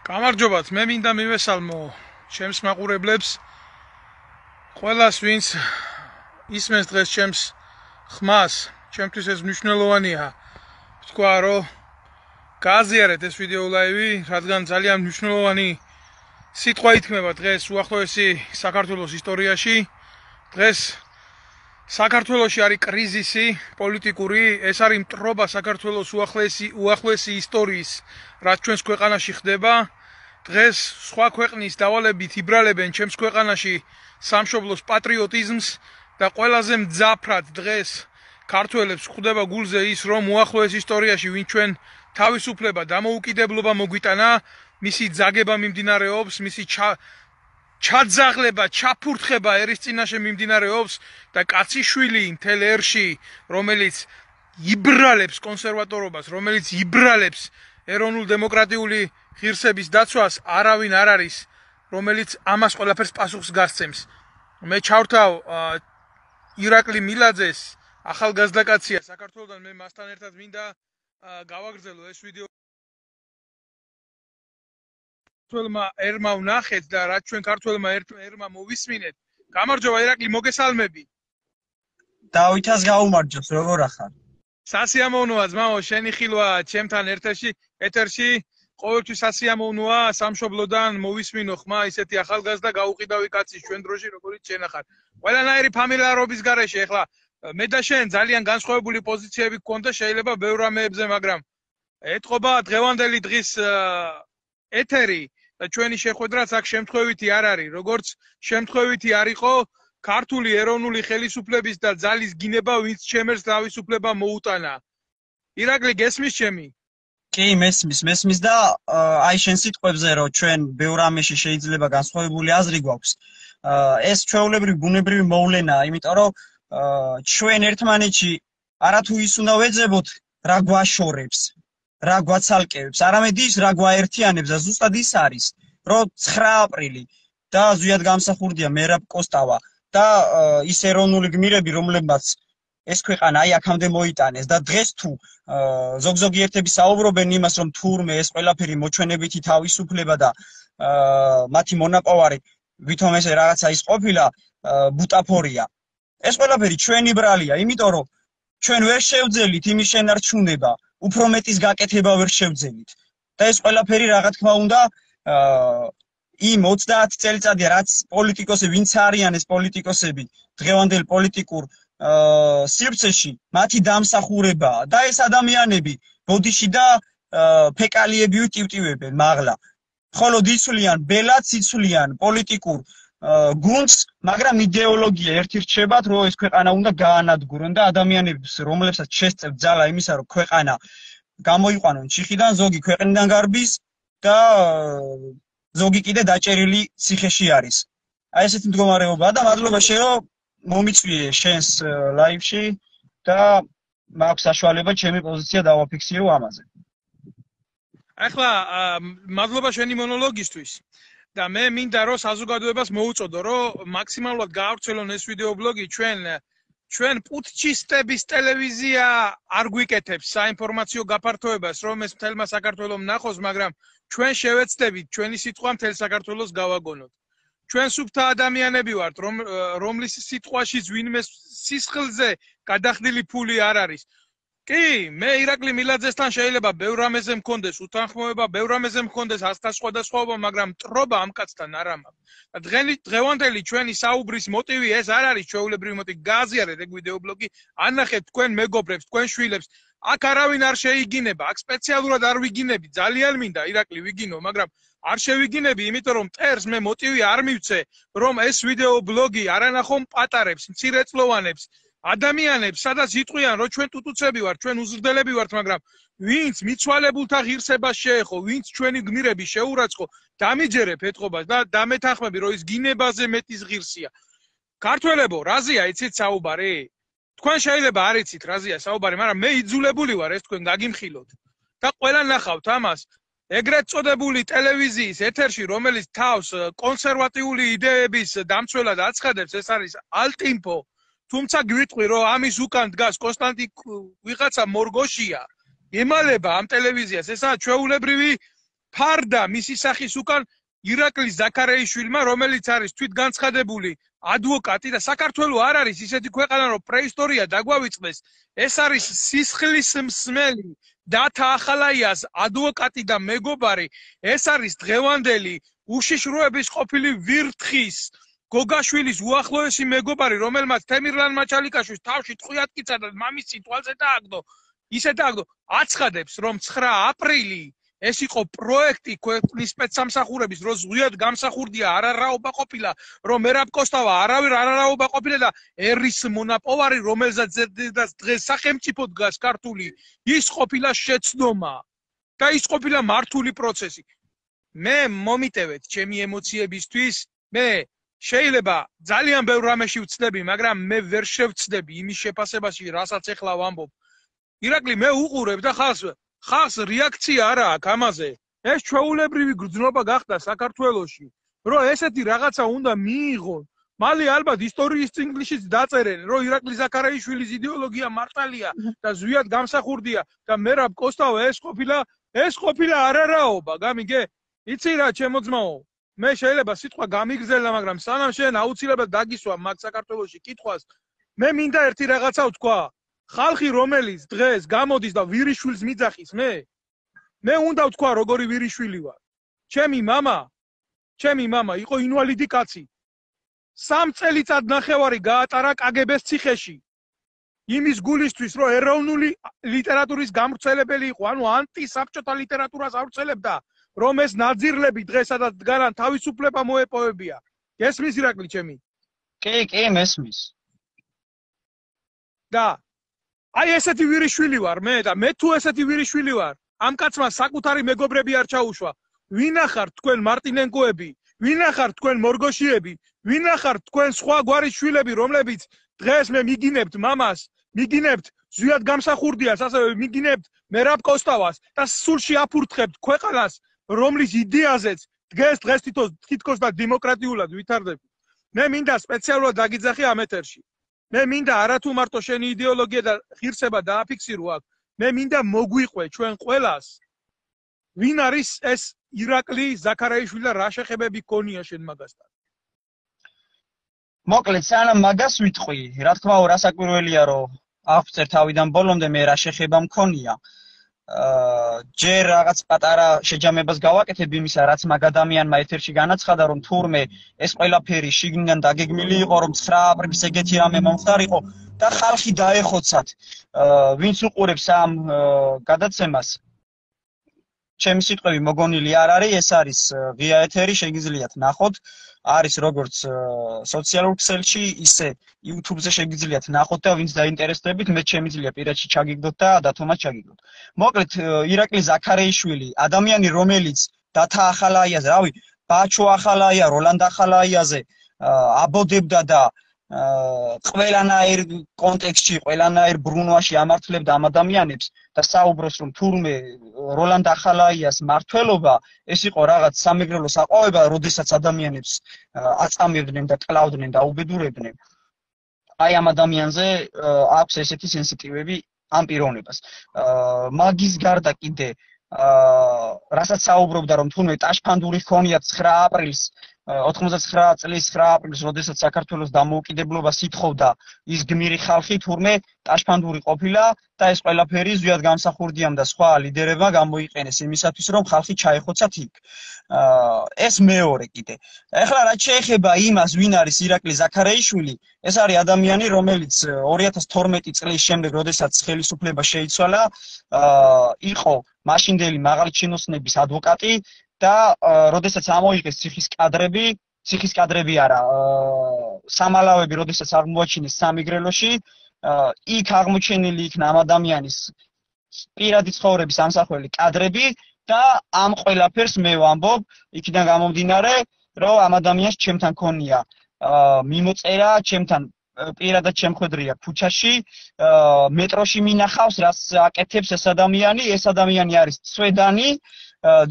გამარჯობათ, მე მინდა მივესალმო ჩემს მაყურებლებს, ყველას ვინც ისმენს დღეს ჩემს ხმას, ჩემთვის ეს მნიშვნელოვანია. ვთქვა, რომ გააზიარეთ ეს ვიდეო ლაივი, რადგან ძალიან მნიშვნელოვანი სიტყვა ითქმება დღეს უახლოესი საქართველოს ისტორიაში. დღეს საქართველოში არის კრიზისი პოლიტიკური, ეს არის მტრობა საქართველოს უახლოესი ისტორიის, რაც ჩვენს ქვეყანაში ხდება. დღეს სხვა ქვეყნის დავალებით იბრალებენ ჩემს ქვეყანაში სამშობლოს პატრიოტიზმს და ყველაზე მძაფრად დღეს ქართველებს ხვდება გულზე ის, რომ უახლოეს ისტორიაში ვინ ჩვენ თავისუფლება დამოუკიდებლობა მოგვიტანა, მისი ძაგება მიმდინარეობს, მისი ჩაძაღლება, ჩაფურთხება ერის წინაშე მიმდინარეობს და კაციშვილი მთელ ერში, რომელიც იბრალებს კონსერვატორობას, რომელიც იბრალებს ეროვნულ დემოკრატიული ღირსების დაცვას, არავინ არ არის, რომელიც ამას ყველაფერს პასუხს გასცემს. მე ჩავრთავ ირაკლი მილაძეს, ახალგაზრდა კაცია საქართველოსთან, მე მასთან ერთად მინდა გავაგრძელო ეს ვიდეო. ქართველმა ერმა ვნახეთ და რაც ჩვენ ქართველმა ერმა მოვისმინეთ. გამარჯობა ირაკლი, მოგესალმები. დავითას გაუმარჯოს, როგორ ახარ? სასიამოვნოა ძმაო, შენი ხილვა ჩემთან ეთერში ყოველთვის სასიამოვნოა, სამშობლოდან მოვისმინო ხმა, ისეთი ახალგაზრდა გაუყიდავი კაცი ჩვენ დროში, როგორიც შენ ახარ. ყველანაირი ფამილიარობის გარეშე, ეხლა მე და შენ ძალიან განსხვავებული პოზიციები გქონდა, შეიძლება ბევრ რამეებზე, მაგრამ ეთყობა დღევანდელი დღის ეთერი და ჩვენი შეხვედრაც აქ შემთხვევითი არ არის, როგორც შემთხვევითი არ იყო ქართული ეროვნული ხელისუფლების და ძალის გინება, ვინც ჩემს თავისუფლება მოუტანა. ირაკლი, გესმის ჩემი? კი, მესმის და აი შენ სიტყვებზე, რომ ჩვენ ბევრ რამეში შეიძლება განსხვავებული აზრი გვაქვს. ეს ჩვეულებრივი ბუნებრივი მოვლენაა, იმიტომ რომ ჩვენ ერთმანეთში არათუ ის უნდა ვეძებოთ, რა გვაშორებს, რა გვაცალკევებს, არამედ ის, რა გვაერთიანებს და ზუსტად ის არის, რომ 9 აპრილი და ზუსტად გამსახურდია მერაბ კოსტავა და ის ეროვნული გმირები, რომლებმაც ეს ქვეყანა აი აქამდე მოიტანეს და დღეს თუ ზოგ-ზოგი ერთები საუბრობენ იმას, რომ თურმე ეს ყველაფერი მოჩვენებითი თავისუფლება და მათი მონაპოვარი ვითომ ეს რაღაცა ის ყოფილა ბუტაფორია. ეს ყველაფერი ჩვენი ბრალია, იმიტომ რომ ჩვენ ვერ შევძელით იმის შენარჩუნება, უფრო მეტის გაკეთება ვერ შევძელით. და ეს ყველაფერი რა თქმა უნდა იმ 30 წელიწადია, რაც პოლიტიკოსები, ვინც არიან ეს პოლიტიკოსები, დღევანდელ პოლიტიკურ სივრცეში, მათი დამსახურებაა და ეს ადამიანები ბოდიში და ფეკალიები ვტივტივებენ მაღლა. მხოლოდ იცვლიან ბელადს, იცვლიან პოლიტიკურ გუნდს, მაგრამ იდეოლოგია ერთი რჩებათ, რომ ეს ქვეყანა უნდა გაანადგურონ და ადამიანებს, რომლებსაც შესწევთ ძალა იმისა, რომ ქვეყანა გამოიყვანონ ჩიხიდან, ზოგი ქვეყნიდან გარბის და ზოგი კიდე დაჭერილი ციხეში არის. აი ესეთი მდგომარეობაა და მადლობა შენ, რომ მომიწვიე შენს ლაივში და მაქვს საშუალება ჩემი პოზიცია დავაფიქსირო ამაზე. ახლა მადლობა შენი მონოლოგისთვის და მე მინდა რომ საზოგადოებას მოუწოდო, რომ მაქსიმალურად გაავრცელონ ეს ვიდეო ბლოგი ჩვენ პუტჩისტების ტელევიზია არ გვიკეთებს საინფორმაციო გაფართოებას, რომ ეს მთელმა საქართველოს ნახოს, მაგრამ ჩვენ შევეცდებით ჩვენი სიტყვა მთელ საქართველოს გავაგონოთ. ჩვენ სუფთა ადამიანები ვართ, რომლის სიტყვაშიც ვინმე სისხლზე გადახდილი ფული არ არის. კი, მე ირაკლი მილაძესთან შეიძლება ბევრ რამეზე მქონდეს უთანხმოება, ბევრ რამეზე მქონდეს ასთა სხვადასხვაობა, მაგრამ მტრობა ამ კაცთან არ ამაქვს. და დღევანდელი ჩვენი საუბრის მოტივი ეს არ არის ჩვეულებრივი მოტივი. გააზიარეთ ეგ ვიდეო ბლოგი, ანახეთ თქვენ მეგობრებს, თქვენ შვილებს. აქ არავინ არ შეიგინება, აქ სპეციალურად არ ვიგინები, ძალიან მინდა ირაკლი ვიგინო, მაგრამ არ შევიგინები, იმიტომ რომ მტერს მე მოტივი არ მივცე, რომ ეს ვიდეო ბლოგი არანახო პატარებს, მცირეწლოვანებს, ადამიანებს, სადაც იტყვიან, რომ ჩვენ ტუტუცები ვართ, ჩვენ უზრდელები ვართ, მაგრამ ვინც მიცვალებულთა ღირსებას შეეხო, ვინც ჩვენი გმირები შეურაცხყო, დამიჯერებ ეთყობას და დამეთანხმები, რომ ის გინებაზე მეტის ღირსია. ქართველებო, რაზეა იცით საუბარი? თქვენ შეიძლება არ იცით რაზეა საუბარი, მაგრამ მე იძულებული ვარ ეს თქვენ გაგიმხილოთ და ყველა ნახავთ ამას. ეგრეთ წოდებული ტელევიზიის ეთერში, რომელიც თავს კონსერვატიული იდეების დამცველად აცხადებს, ეს არის ალტინფო. თუმცა გვიტყვი, რომ ამის უკან დგას კონსტანტი ვიღაცა მორგოშია, ემალება ამ ტელევიზიას, ესაა ჩვეულებრივი ფარდა მისი სახის უკან ირაკლი ზაქარეიშვილმა, რომელიც არის თვითგანცხადებული ადვოკატი და საქართველოს არ არის ისეთი ქვეყანა, რომ პრეისტორია დაგვავიწყდეს. ეს არის სისხლის მსმელი დათა ახალაიას ადვოკატი და მეგობარი. ეს არის დღევანდელი უშიშროების ყოფილი ვირთხის გოგაშვილის უახლოესი მეგობარი, რომელმაც თემირლან მაჩალიკაშვილს თავში ტყვიატკიცა და მამის წითვალზე დააგდო. ისე დააგდო, აცხადებს, რომ 9 აპრილი ეს იყო პროექტი ქვეყნის სპეცსამსახურების, რომ ზღვიად გამსახურდია არარაობა ყოფილა, რომ მერაბ კოსტავა არავის არარაობა ყოფილა და ერის მონაპოვარი, რომელზეც დღეს სახელმწიფო დგას ქართული, ის ყოფილა შეცდომა და ის ყოფილა მართული პროცესი. მე მომიტევეთ ჩემი ემოციებისთვის, მე შეიძლება ძალიან ბევრ რამეში ვცდები, მაგრამ მე ვერ შევცდები იმის შეფასებაში, რასაც ეხლა ვამბობ. ირაკლი, მე უყურებ და ხალხს რეაქცია არა აქვს ამაზე. ეს ჩვეულებრივი გრძნობა გახდა საქართველოში, რომ ესეთი რაღაცა უნდა მიიღონ. მალე ალბათ ისტორიის წიგნშიც დაწერენ, რომ ირაკლი ზაქარეიშვილის იდეოლოგია მართალია და ზვიად გამსახურდია და მერაბ კოსტავა ეს ყოფილა არარაობა, გამიგე? იცი რა, ჩემო ძმაო, მე შეიძლება სიტყვა გამიგრძელდა, მაგრამ სანამ შენ აუცილებლად დაგისვა მაგ საქართველოში კითხვას, მე მინდა ერთი რაღაცა ვთქვა. ხალხი რომელიც დღეს გამოდის და ვირიშვილს მიძახის, მე უნდა ვთქვა როგორი ვირიშვილი ვარ. ჩემი მამა იყო ინვალიდი კაცი. 3 წელიწად ნახევარი გაატარა კგბ-ს ციხეში. იმის გულისთვის, რომ ეროვნული ლიტერატურის გამვრცელებელი იყო, ანუ ანტისაბჭოთა ლიტერატურას ავრცელებდა, რომ ეს ნაძირლები დღესაც დგანან თავისუფლება მოეპოვებია. გესმის ირაკლი ჩემი? კი, მესმის. და აი ესეთი ვირიშვილი ვარ მე და მე თუ ესეთი ვირიშვილი ვარ, ამ კაცმა საკუთარი მეგობრები არ ჩაუშვა. ვინ ახართ თქვენ მარტინენკოები, ვინ ახართ თქვენ მორგოშიები, ვინ ახართ თქვენ სხვა გვარის შვილები, რომლებიც დღეს მე მიგინებთ მამას, მიგინებთ ზვიად გამსახურდიას, ასევე მიგინებთ მერაბ კოსტავას და სულში აფურთხებთ ქვეყანას, რომლის იდეაზეც დღეს თითქოს და დემოკრატიულად ვითარდება. მე მინდა სპეციალურად დაგიძახი ამ ეთერში. მე მინდა არათუ მარტო შენი იდეოლოგია და ღირსება დააფიქსირო აქ. მე მინდა მოგვიყვე ჩვენ ყველას. ვინ არის ეს ირაკლი ზაქარეიშვილი და რა შეხებები გქონია შენ მაგასთან? მოკლედ, სანამ მაგას ვიტყვი, რა თქმა უნდა, რასაკვირველია, რომ აღწერ თავიდან ბოლომდე მე რა შეხება მქონია. ჯერ რაღაც პატარა შეჯამებას გავაკეთებ იმისა, რაც მაგ ადამიანმა ეთერში განაცხადა, რომ თურმე ეს ყველაფერი შიგნიდან დაგეგმილი იყო, რომ 9 აპრილს ეგეთი რამე მომხდარიყო და ხალხი დაეხოცათ. ვინც უყურებს ამ გადაცემას, ჩემი სიტყვები მოგონილი არ არის, ეს არის ღია ეთერი, შეგიძლიათ ნახოთ. არის როგორც სოციალურ ქსელში, ისე YouTube-ზე შეგიძლიათ ნახოთ და ვინც დაინტერესდებით, მე შემიძლია პირადში ჩაგიგდოთ და დათომაც ჩაგიგდოთ. მოკლედ, ირაკლი ზაქარეიშვილი, ადამიანი, რომელიც დათა ახალაიაზე, რავი, ბაჩო ახალაია, როლანდ ახალაიაზე აბოდებდა და ყველანაირ კონტექსტში, ყველანაირ ბრუნვაში ამართლებდა ამ ადამიანებს და საუბრობს, რომ თურმე როლანდ ახალაიას მართლობა ეს იყო რაღაც სამეგრელო საყვავება, როდესაც ადამიანებს აწამებდნენ და კლავდნენ და უბედურებდნენ. აი ამ ადამიანზე აქვს ესეთი სენსიტივები ამ პიროვნებას. მაგის გარდა კიდე რასაც საუბრობდა, რომ თურმე ტაშფანდური ჰქონია 9 აპრილს 99 წლის 9 აპრილს, როდესაც საქართველოს დამოუკიდებლობას ითხოვდა ის გმირი ხალხი, თურმე ტაშფანდური ყოფილა და ეს ყველაფერი ზვიად გამსახურდიამ და სხვა ლიდერებმა გამოიყენეს იმისათვის, რომ ხალხი ჩაეხოცათ იქ. ეს მეორე კიდე. ეხლა რაც შეეხება იმას, ვინ არის ირაკლი ზაქარეიშვილი, ეს არის ადამიანი, რომელიც 2012 წლის შემდეგ, როდესაც ხელისუფლება შეიცვალა, იყო მაშინდელი მაღალი ჩინოსნების ადვოკატი და როდესაც ამოიღეს ციხის კადრები არა, სამალავები, როდესაც აღმოაჩინეს სამეგრელოში, იქ აღმოჩენილი იქნა ამ ადამიანის პირადი ცხოვრების ამსახველი კადრები და ამ ყველაფერს მე ვამბობ, იქიდან გამომდინარე, რომ ამ ადამიანს ჩემთან ქონია მიმოწერა, ჩემთან პირადად შემხვედრია ქუჩაში, მეტროში მინახავს, რაც აკეთებს ეს ადამიანი არის ცვედანი,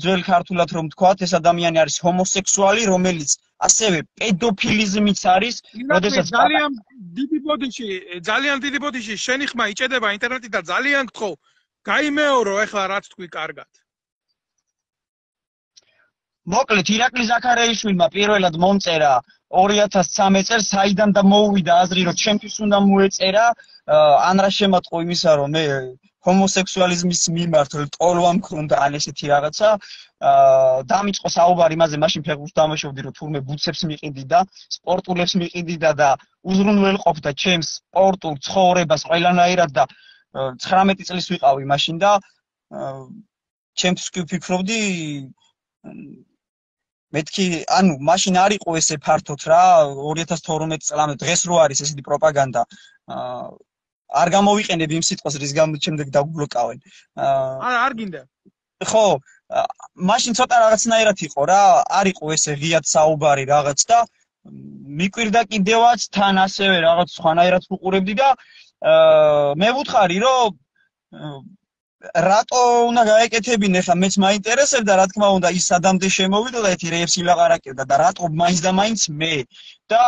ძველ ქართულად რომ თქვათ, ეს ადამიანი არის ჰომოსექსუალი, რომელიც ასევე პედოფილიზმიც არის, როდესაც ძალიან დიდი ბოდიში შენი ხმა იჭედება ინტერნეტით და ძალიან გთხოვ, გაიმეორო ეხლა რაც თქვი კარგად. მოკლედ ირაკლი ზაქარიაშვილმა პირველად მომწერა 2013 წელს საიდან და მოუვიდა აზრი რომ ჩემთვის უნდა მოეწერა ან რა შემატყო იმისა რომ მე ჰომოსექსუალიზმის მიმართ ტოლვა მქონდა ან ესეთი რაღაცა დამიწყო საუბარი იმაზე მაშინ ფეხბურთს დამაშავდი რომ თურმე ბუცებს მიყიდი და სპორტულებს მიყიდი და უზრუნველყოფდა ჩემს სპორტულ ცხოვრებას ყველანაირად და 19 წლის ვიყავი მაშინ და ჩემთვის კი ვფიქრობდი მეთქი ანუ მაშინ არ იყო ესე ფართოდ რა 2012 წლამდე დღეს რო არის ესეთი პროპაგანდა არ გამოვიყენებ იმ სიტყვას რის გამოც შემდეგ დაგბლოკავენ არ გინდა ხო მაშინ ცოტა რაღაცნაირად იყო რა არ იყო ესე ღიად საუბარი რაღაც და მიკვირდა კიდევაც თან ასევე რაღაც სხვანაირად ვუყურებდი და მე ვუთხარი რომ რატო უნდა გაეკეთებინე ხა მეც მაინტერესებდა რა თქმა უნდა ის სადამდე შემოვიდო და ერთი რეებს ილაღარაკებდა და რატო მაინც და მაინც მე და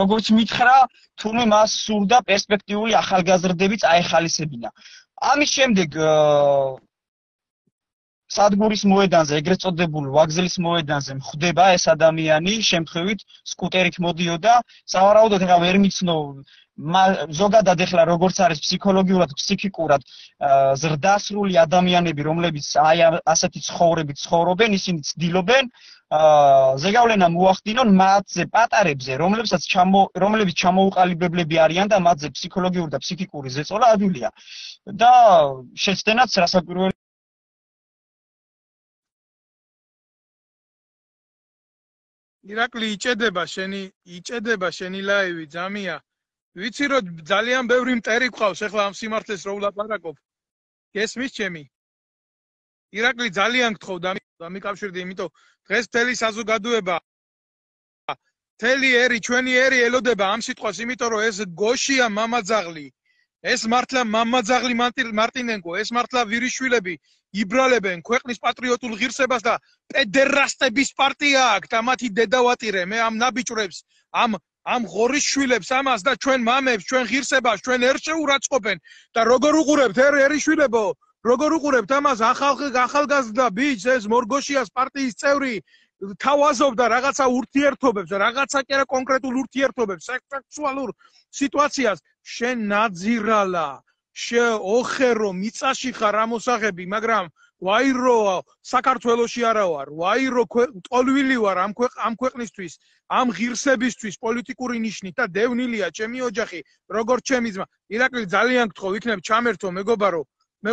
როგორც მითხრა თურმე მას სურდა პერსპექტიული ახალგაზრდები წაეხალისებინა ამის შემდეგ სადგურის მოედანზე ეგრეთ წოდებულ ვაგზელის მოედანზე მხვდება ეს ადამიანი შემთხვევით სკუტერით მოდიოდა სავარაუდოდ ეხლა ვერ მიცნო ზოგადად ეხლა როგორც არის ფსიქოლოგიურად, ფსიქიკურად ზრდასრული ადამიანები, რომლებიც აი ასეთი ცხოვრებით ცხოვრობენ, ისინი ცდილობენ ზეგავლენა მოახდინონ მათზე პატარებზე, რომლებიც ჩამოუყალიბებლები არიან და მათზე ფსიქოლოგიური და ფსიქიკური ზეწოლა ადვილია. და შეცდენაც რასაკვირველი ირაკლი იჭედება შენი ლაივი ძამია ვიცი რომ ძალიან ბევრი მტერი გყავს ახლა ამ სიმართლეს რო ვლაპარაკობ გესმის ჩემი ირაკლი ძალიან გთხოვ დამიკავშირდი იმიტომ დღეს მთელი საზოგადოება მთელი ერი ჩვენი ერი ელოდება ამ სიტყვას იმიტომ რომ ეს გოშია მამაძაღლი ეს მართლა მამაძაღლი მარტინენკო ეს მართლა ვირიშვილები იბრალებენ ქვეყნის პატრიოტულ ღირსებას და პედერასტების პარტია აქვს და მათი დედავატირე მე ამ ნაბიჭრებს ამ ღორის შვილებს ამას და ჩვენ მამებს ჩვენ ღირსებას ჩვენ ერშეურაცხობენ და როგორ უყურებთ ერიშვილებო როგორ უყურებთ ამას ახალგაზრდა ბიჭს ეს მორგოშიას პარტიის წევრი თავაზობდა რაღაცა ურთიერთობებს რაღაცა კი არა კონკრეტულ ურთიერთობებს სექსუალურ სიტუაციას შენ ნაძირალა ოხერო მიწაში ხარ ამოსაღები მაგრამ ვაირო საქართველოში არა ვარ ვაირო ტოლვილი ვარ ამ ქვეყნისთვის ამ ღირსებისთვის პოლიტიკური ნიშნით და დევნილია ჩემი ოჯახი როგორც ჩემი ძმა ირაკლი ძალიან გთხოვ იქნებ ჩამერთო მეგობარო მე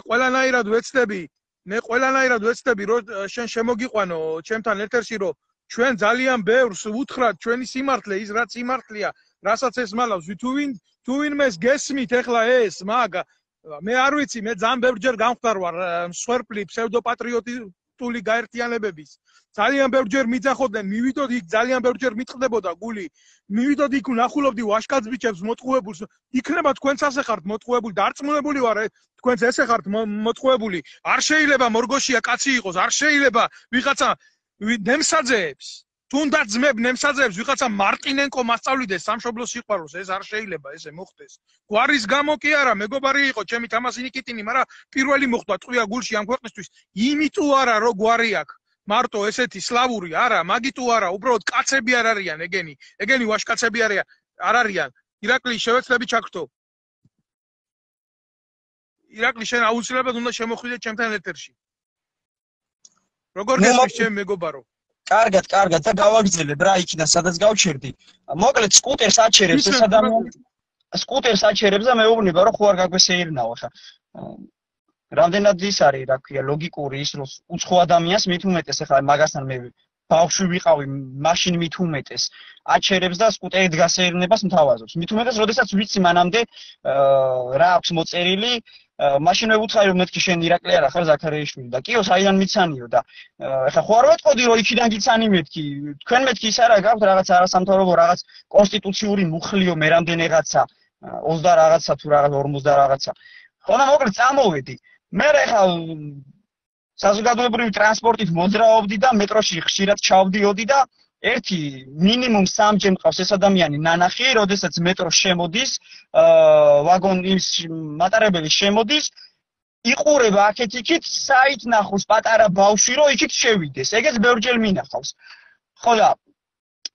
ყველანაირად ვეცდები რომ შენ შემოგიყვანო ჩემთან ერთ-ერთი რომ ჩვენ ძალიან ბევრს უთხრათ ჩვენი სიმართლე ის რაც სიმართლეა რასაც ეს მალავს თუ ვინმეს გესმით ეხლა ეს მაგ მე არ ვიცი მე ძალიან ბევრჯერ გამხდარ ვარ მსხვერპლი ფსევდოპატრიოტული გაერთიანებების ძალიან ბევრჯერ მიძახოდნენ მივიდოდ იქ ძალიან ბევრჯერ მიტყდებოდა გული მივიდოდ იქ ვნახულობდი ვაშკაც ბიჭებს მოტყუებულს იქნება თქვენც ასე ხართ მოტყუებული დარწმუნებული ვარ თქვენც ესე ხართ მოტყუებული არ შეიძლება მორგოშია კაცი იყოს არ შეიძლება ვიღაცა ნემსაძეებს თუნდაც ძმებ ნემსაძეებს ვიღაცა მარტინენკო მასწავლიდეს სამშობლოს სიყვარულს ეს არ შეიძლება ესე მოხდეს გვარის გამო კი არა მეგობარი იყო ჩემი თამასი ნიკიტინი მაგრამ პირველი მოხდა ტყვია გულში ამ ქვეყნისთვის იმიტომ არა რომ გვარი აქვს მარტო ესეთი სლავური არა მაგიტო არა უბრალოდ კაცები არ არიან ეგენი ვაშკაცები არ არიან ირაკლი შევეცდები ჩაგრთო ირაკლი შენ აუცილებლად უნდა შემოხვიდე ჩემთან ეთერში როგორ გესმის ჩემ მეგობარო კარგად და გავაგრძელებ რა იქიდან სადაც გავჩერდი მოკლედ სკუტერს აჩერებს ეს ადამიანი სკუტერს აჩერებს და მეუბნება რომ ხო არ გაგვესეირნაო ხა რამდენად ის არის რა ქვია ლოგიკური ის რომ უცხო ადამიანს მით უმეტეს ახლა მაგასთან მე ბავშვი ვიყავი მაშინ მით უმეტეს აჩერებს და სკუტერით გასეირნებას მთავაზობს მით უმეტეს როდესაც ვიცი მანამდე რა აქვს მოწერილი მაშინ მე ვუთხარი რომ მეთქი შენ ირაკლი არა ხარ ზაქარიაშვილი და კიო საიდან მიცანიო და ახლა ხო არ ვეთყოდი რომ იქიდან გიცანი მეთქი თქვენ მეთქი ის არა გაქვთ რაღაც არასამთავრობო რაღაც კონსტიტუციური მუხლიო მე რამდენიღაცა 20 რაღაცა თუ რაღაც 50 რაღაცა ხონა მოკლედ წამოვედი მე ახლა საზოგადოებრივი ტრანსპორტით მოძრაობდი და მეტროში ხშირად ჩავდიოდი და ერთი მინიმუმ 3 მყავს ეს ადამიანი ნანახი, როდესაც მეტრო შემოდის, ვაგონის მატარებელი შემოდის იყურება აქეთ-იქით საით ნახოს პატარა ბავშვი რომ იქით შევიდეს. ეგეც ბევრჯერ მინახავს. ხო და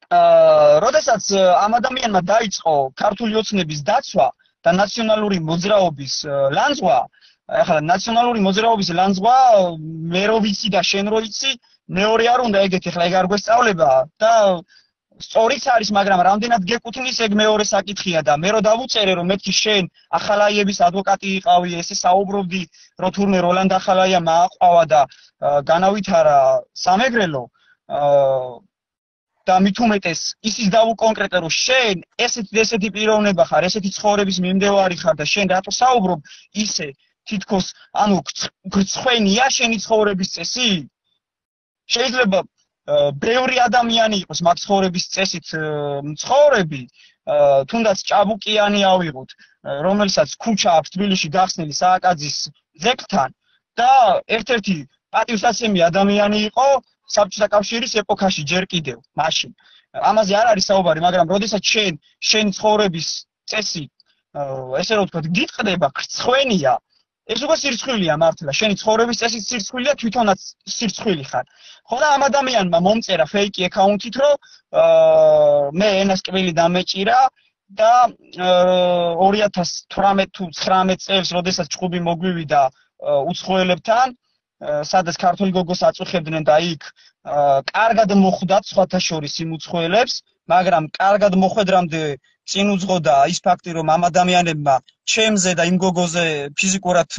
როდესაც ამ ადამიანმა დაიწყო ქართული ოცნების დაცვა და ნაციონალური მოძრაობის ლანძღვა, ახლა ნაციონალური მოძრაობის ლანძღვა მე რო ვიცი და შენ რო იცი, მეორე არ უნდა ეგეთი, ახლა ეგ არ გვესწავლება და სწორიც არის, მაგრამ რამდენად გეკუთვნის ეგ მეორე საკითხია და მე რო დავუწერე რომ მეთქი შენ ახალაიების ადვოკატი იყავი, ესე საუბრობდი რომ თურმე როლანდ ახალაია მააყვავა და განავითარა სამეგრელო და მით უმეტეს ისიც დავუკონკრეტე რომ შენ ესეთი პიროვნება ხარ, ესეთი ცხოვრების მიმდევარი ხარ და შენ რატო საუბრობ ისე თითქოს ანუ გრცხვენია შენი ცხოვრების წესი? შეიძლება ბევრი ადამიანი იყოს მაგ ცხოვრების წესით მცხოვრები, თუნდაც ჭაბუკიანი ავიღოთ, რომელსაც ქუჩა აქვს თბილისში გახსნილი სააკაძის ძეგლთან და ერთ-ერთი პატივსაცემი ადამიანი იყო საბჭოთა კავშირის ეპოქაში ჯერ კიდევ მაშინ. ამაზე არ არის საუბარი, მაგრამ როდესაც შენი ცხოვრების წესი ესე რომ ვთქვათ, გიტყდება, გრცხვენია, ეს უკვე სირცხვილია მართლა, შენი ცხოვრების წესიც სირცხვილია, თვითონაც სირცხვილი ხარ. ხო და ამ ადამიანმა მომწერა ფეიკი აკაუნთით, რომ მე ენასკვილი დამეჭირა და 2018 თუ 19 წელს, როდესაც ჭუბი მოგვივიდა უცხოელებთან, სადაც ქართული გოგოს აწუხებდნენ და იქ კარგად მოხვდათ სხვათა შორის იმ უცხოელებს, მაგრამ კარგად მოხვედრამდე წინ უძღოდა ის ფაქტი, რომ ამ ადამიანებმა ჩემზე და იმ გოგოზე ფიზიკურად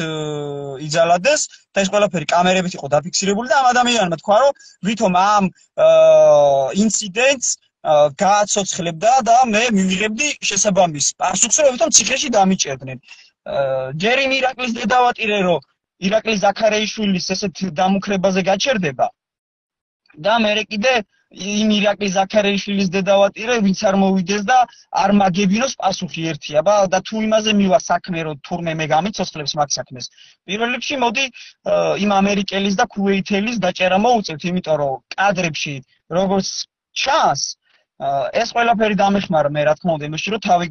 იძალადეს და ეს ყველაფერი კამერებით იყო დაფიქსირებული და ამ ადამიანმა თქვა, რომ ვითომ ამ ინციდენტს გააცოცხლებდა და მე მივიღებდი შესაბამის პასუხს, რომ ვითომ ციხეში დამიჭერდნენ. ჯერ იმ ირაკლის დედავატირე, რომ ირაკლი ზაქარეიშვილის ესეთ დამუქრებაზე გაჩერდება და მე კიდე იმ ირაკლი ზაქარეიშვილის დედავატირე ვინც არ მოვიდეს და არ მაგებინოს პასუხი ერთია და თუ იმაზე მივა საქმე რომ თურმე მე გამიცოცხლებს მაგ საქმეს პირველ რიგში მოდი იმ ამერიკელის და ქუვეითელის დაჭერა მოუწევთ იმიტომ რომ კადრებში როგორც ჩანს ეს ყველაფერი დამეხმარა მე რა თქმა უნდა იმაში რომ თავი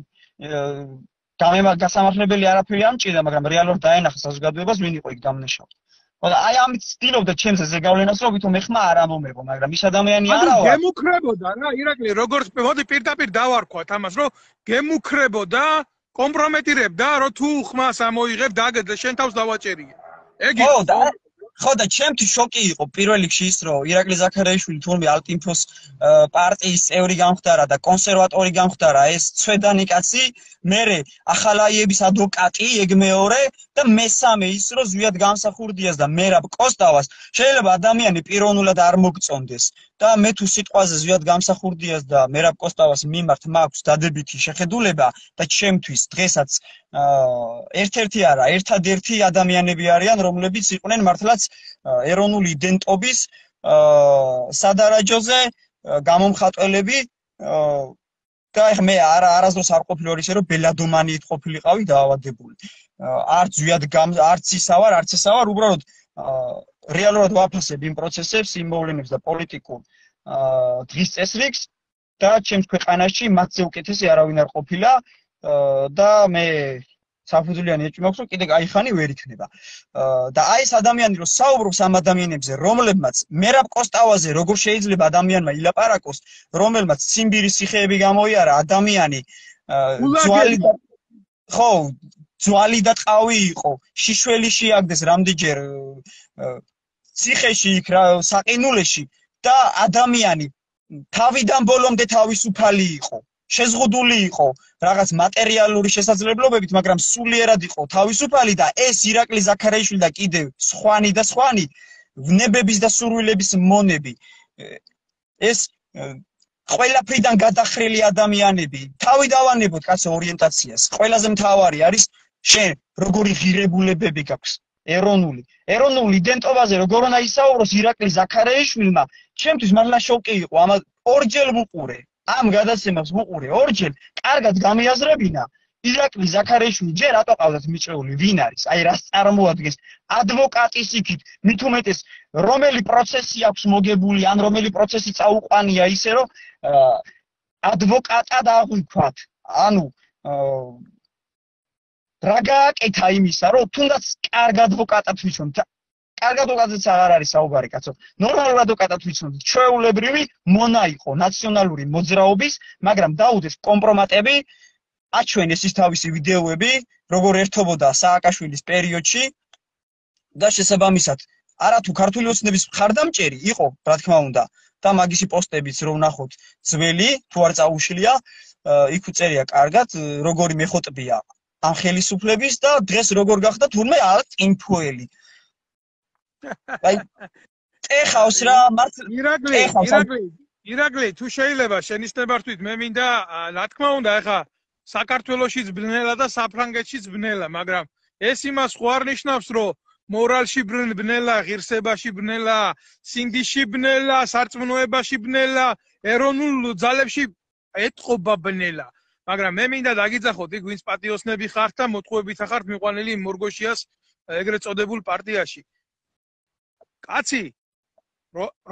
გასამართლებელი არაფერი არ მჭირდა მაგრამ რეალურად დაენახა საზოგადოებას ვინ იყო იქ დამნაშავე და აი ამით ცდილობდა ჩემზე ზეგავლენას რომ ვითომ ეხმა არ ამომეღო მაგრამ ის ადამიანი არა ვარ გემუქრებოდა რა ირაკლი როგორც მოდი პირდაპირ დავარქვათ ამას რომ გემუქრებოდა კომპრომეტირებდა რომ თუ ხმას ამოიღებ დაგეძე შენ თავს დავაჭერია ეგ იყო ხო და ჩემთვის შოკი იყო პირველ რიგში ის რომ ირაკლი ზაქარეიშვილი თურმე ალტინფოს პარტიის წევრი გამხდარა და კონსერვატორი გამხდარა ეს ცვედანი კაცი მერე ახალაიების ადვოკატი ეგ მეორე და მესამე ის რომ ზვიად გამსახურდიას და მერაბ კოსტავას შეიძლება ადამიანი პიროვნულად არ მოგწონდეს და მე თუ სიტყვაზე ზვიად გამსახურდიას და მერაბ კოსტავას მიმართ მაქვს დადებითი შეხედულება და ჩემთვის დღესაც ერთ-ერთი არა ერთადერთი ადამიანები არიან რომლებიც იყვნენ მართლაც ეროვნული იდენტობის სადარაჯოზე გამომხატველები და მე არასდროს არ ყოფილი ისე რომ ბელადომანიით ყოფილიყავი დაავადებული არც ზვიად არც ისა ვარ უბრალოდ რეალურად ვაფასებ იმ პროცესებს იმ მოვლენებს და პოლიტიკურ დღის წესრიგს და ჩემს ქვეყანაში მათზე უკეთესი არავინ არ ყოფილა და მე საფუძვლიანი ეჭვი მაქვს რომ კიდე გაიხანი ვერ იქნება და აი ეს ადამიანი რომ საუბრობს ამ ადამიანებზე რომლებმაც მერაბ კოსტავაზე როგორ შეიძლება ადამიანმა ილაპარაკოს რომელმაც ციმბირის ციხეები გამოიარა ადამიანი ძვალი და ტყავი იყო შიშველი შეაგდეს რამდენჯერ ციხეში იქ საყინულეში და ადამიანი თავიდან ბოლომდე თავისუფალი იყო შეზღუდული იყო რაღაც მატერიალური შესაძლებლობებით, მაგრამ სულიერად იყო თავისუფალი და ეს ირაკლი ზაქარეიშვილი და კიდევ სხვანი და სხვანი ვნებების და სურვილების მონები ეს ყველაფრიდან გადახრილი ადამიანები თავი დავანებოთ კაცო ორიენტაციას ყველაზე მთავარი არის შენ როგორი ღირებულებები გაქვს ეროვნული იდენტობაზე როგორ უნდა ისაუბროს ირაკლი ზაქარეიშვილმა ჩემთვის მართლა შოკი იყო ამა ორჯერ ვუყურე ამ გადაცემას ვუყურე ორჯერ კარგად გამიაზრებინა ირაკლი ზაქარეიშვილი ჯერ რატო ყავდათ მიჭრეული ვინ არის აი რას წარმოადგენს ადვოკატის იქით მით უმეტეს რომელი პროცესი აქვს მოგებული ან რომელი პროცესი წაუყვანია ისე რომ ადვოკატად აღვიქვათ ანუ რა გააკეთა იმისა, რომ თუნდაც კარგ ადვოკატად ვიცნობთ. კარგ ადვოკატიც აღარ არის საუბარი, კაცო. ნორმალურ ადვოკატად ვიცნობთ. ჩვეულებრივი მონა იყო ნაციონალური მოძრაობის, მაგრამ დაუდეს კომპრომატები, აჩვენეს ის თავისი ვიდეოები, როგორ ერთობოდა სააკაშვილის პერიოდში და შესაბამისად, არათუ ქართული ოცნების მხარდამჭერი იყო, რა თქმა უნდა, და მაგისი პოსტებიც რომ ნახოთ ძველი, თუ არ წაუშლია, იქ უწერია კარგად, როგორი მეხოტბია ამ ხელისუფლების და დღეს როგორ გახდა თურმე წინფუელი. აი ეხავს რა ირაკლი თუ შეიძლება შენიშნებართვით მე მინდა რა თქმა უნდა ეხა საქართველოშიც ბნელა და საფრანგეთშიც ბნელა მაგრამ ეს იმას ხო არ ნიშნავს რომ მორალში ბნელა ღირსებაში ბნელა სინდიში ბნელა სარწმუნოებაში ბნელა ეროვნულ ძალებში ეთყობა ბნელა მაგრამ მე მინდა დაგიძახოთ იქ ვინც პატიოსნები ხართ და მოტყუებით ხართ მიყვანილი მორგოშიას ეგრეთ წოდებულ პარტიაში კაცი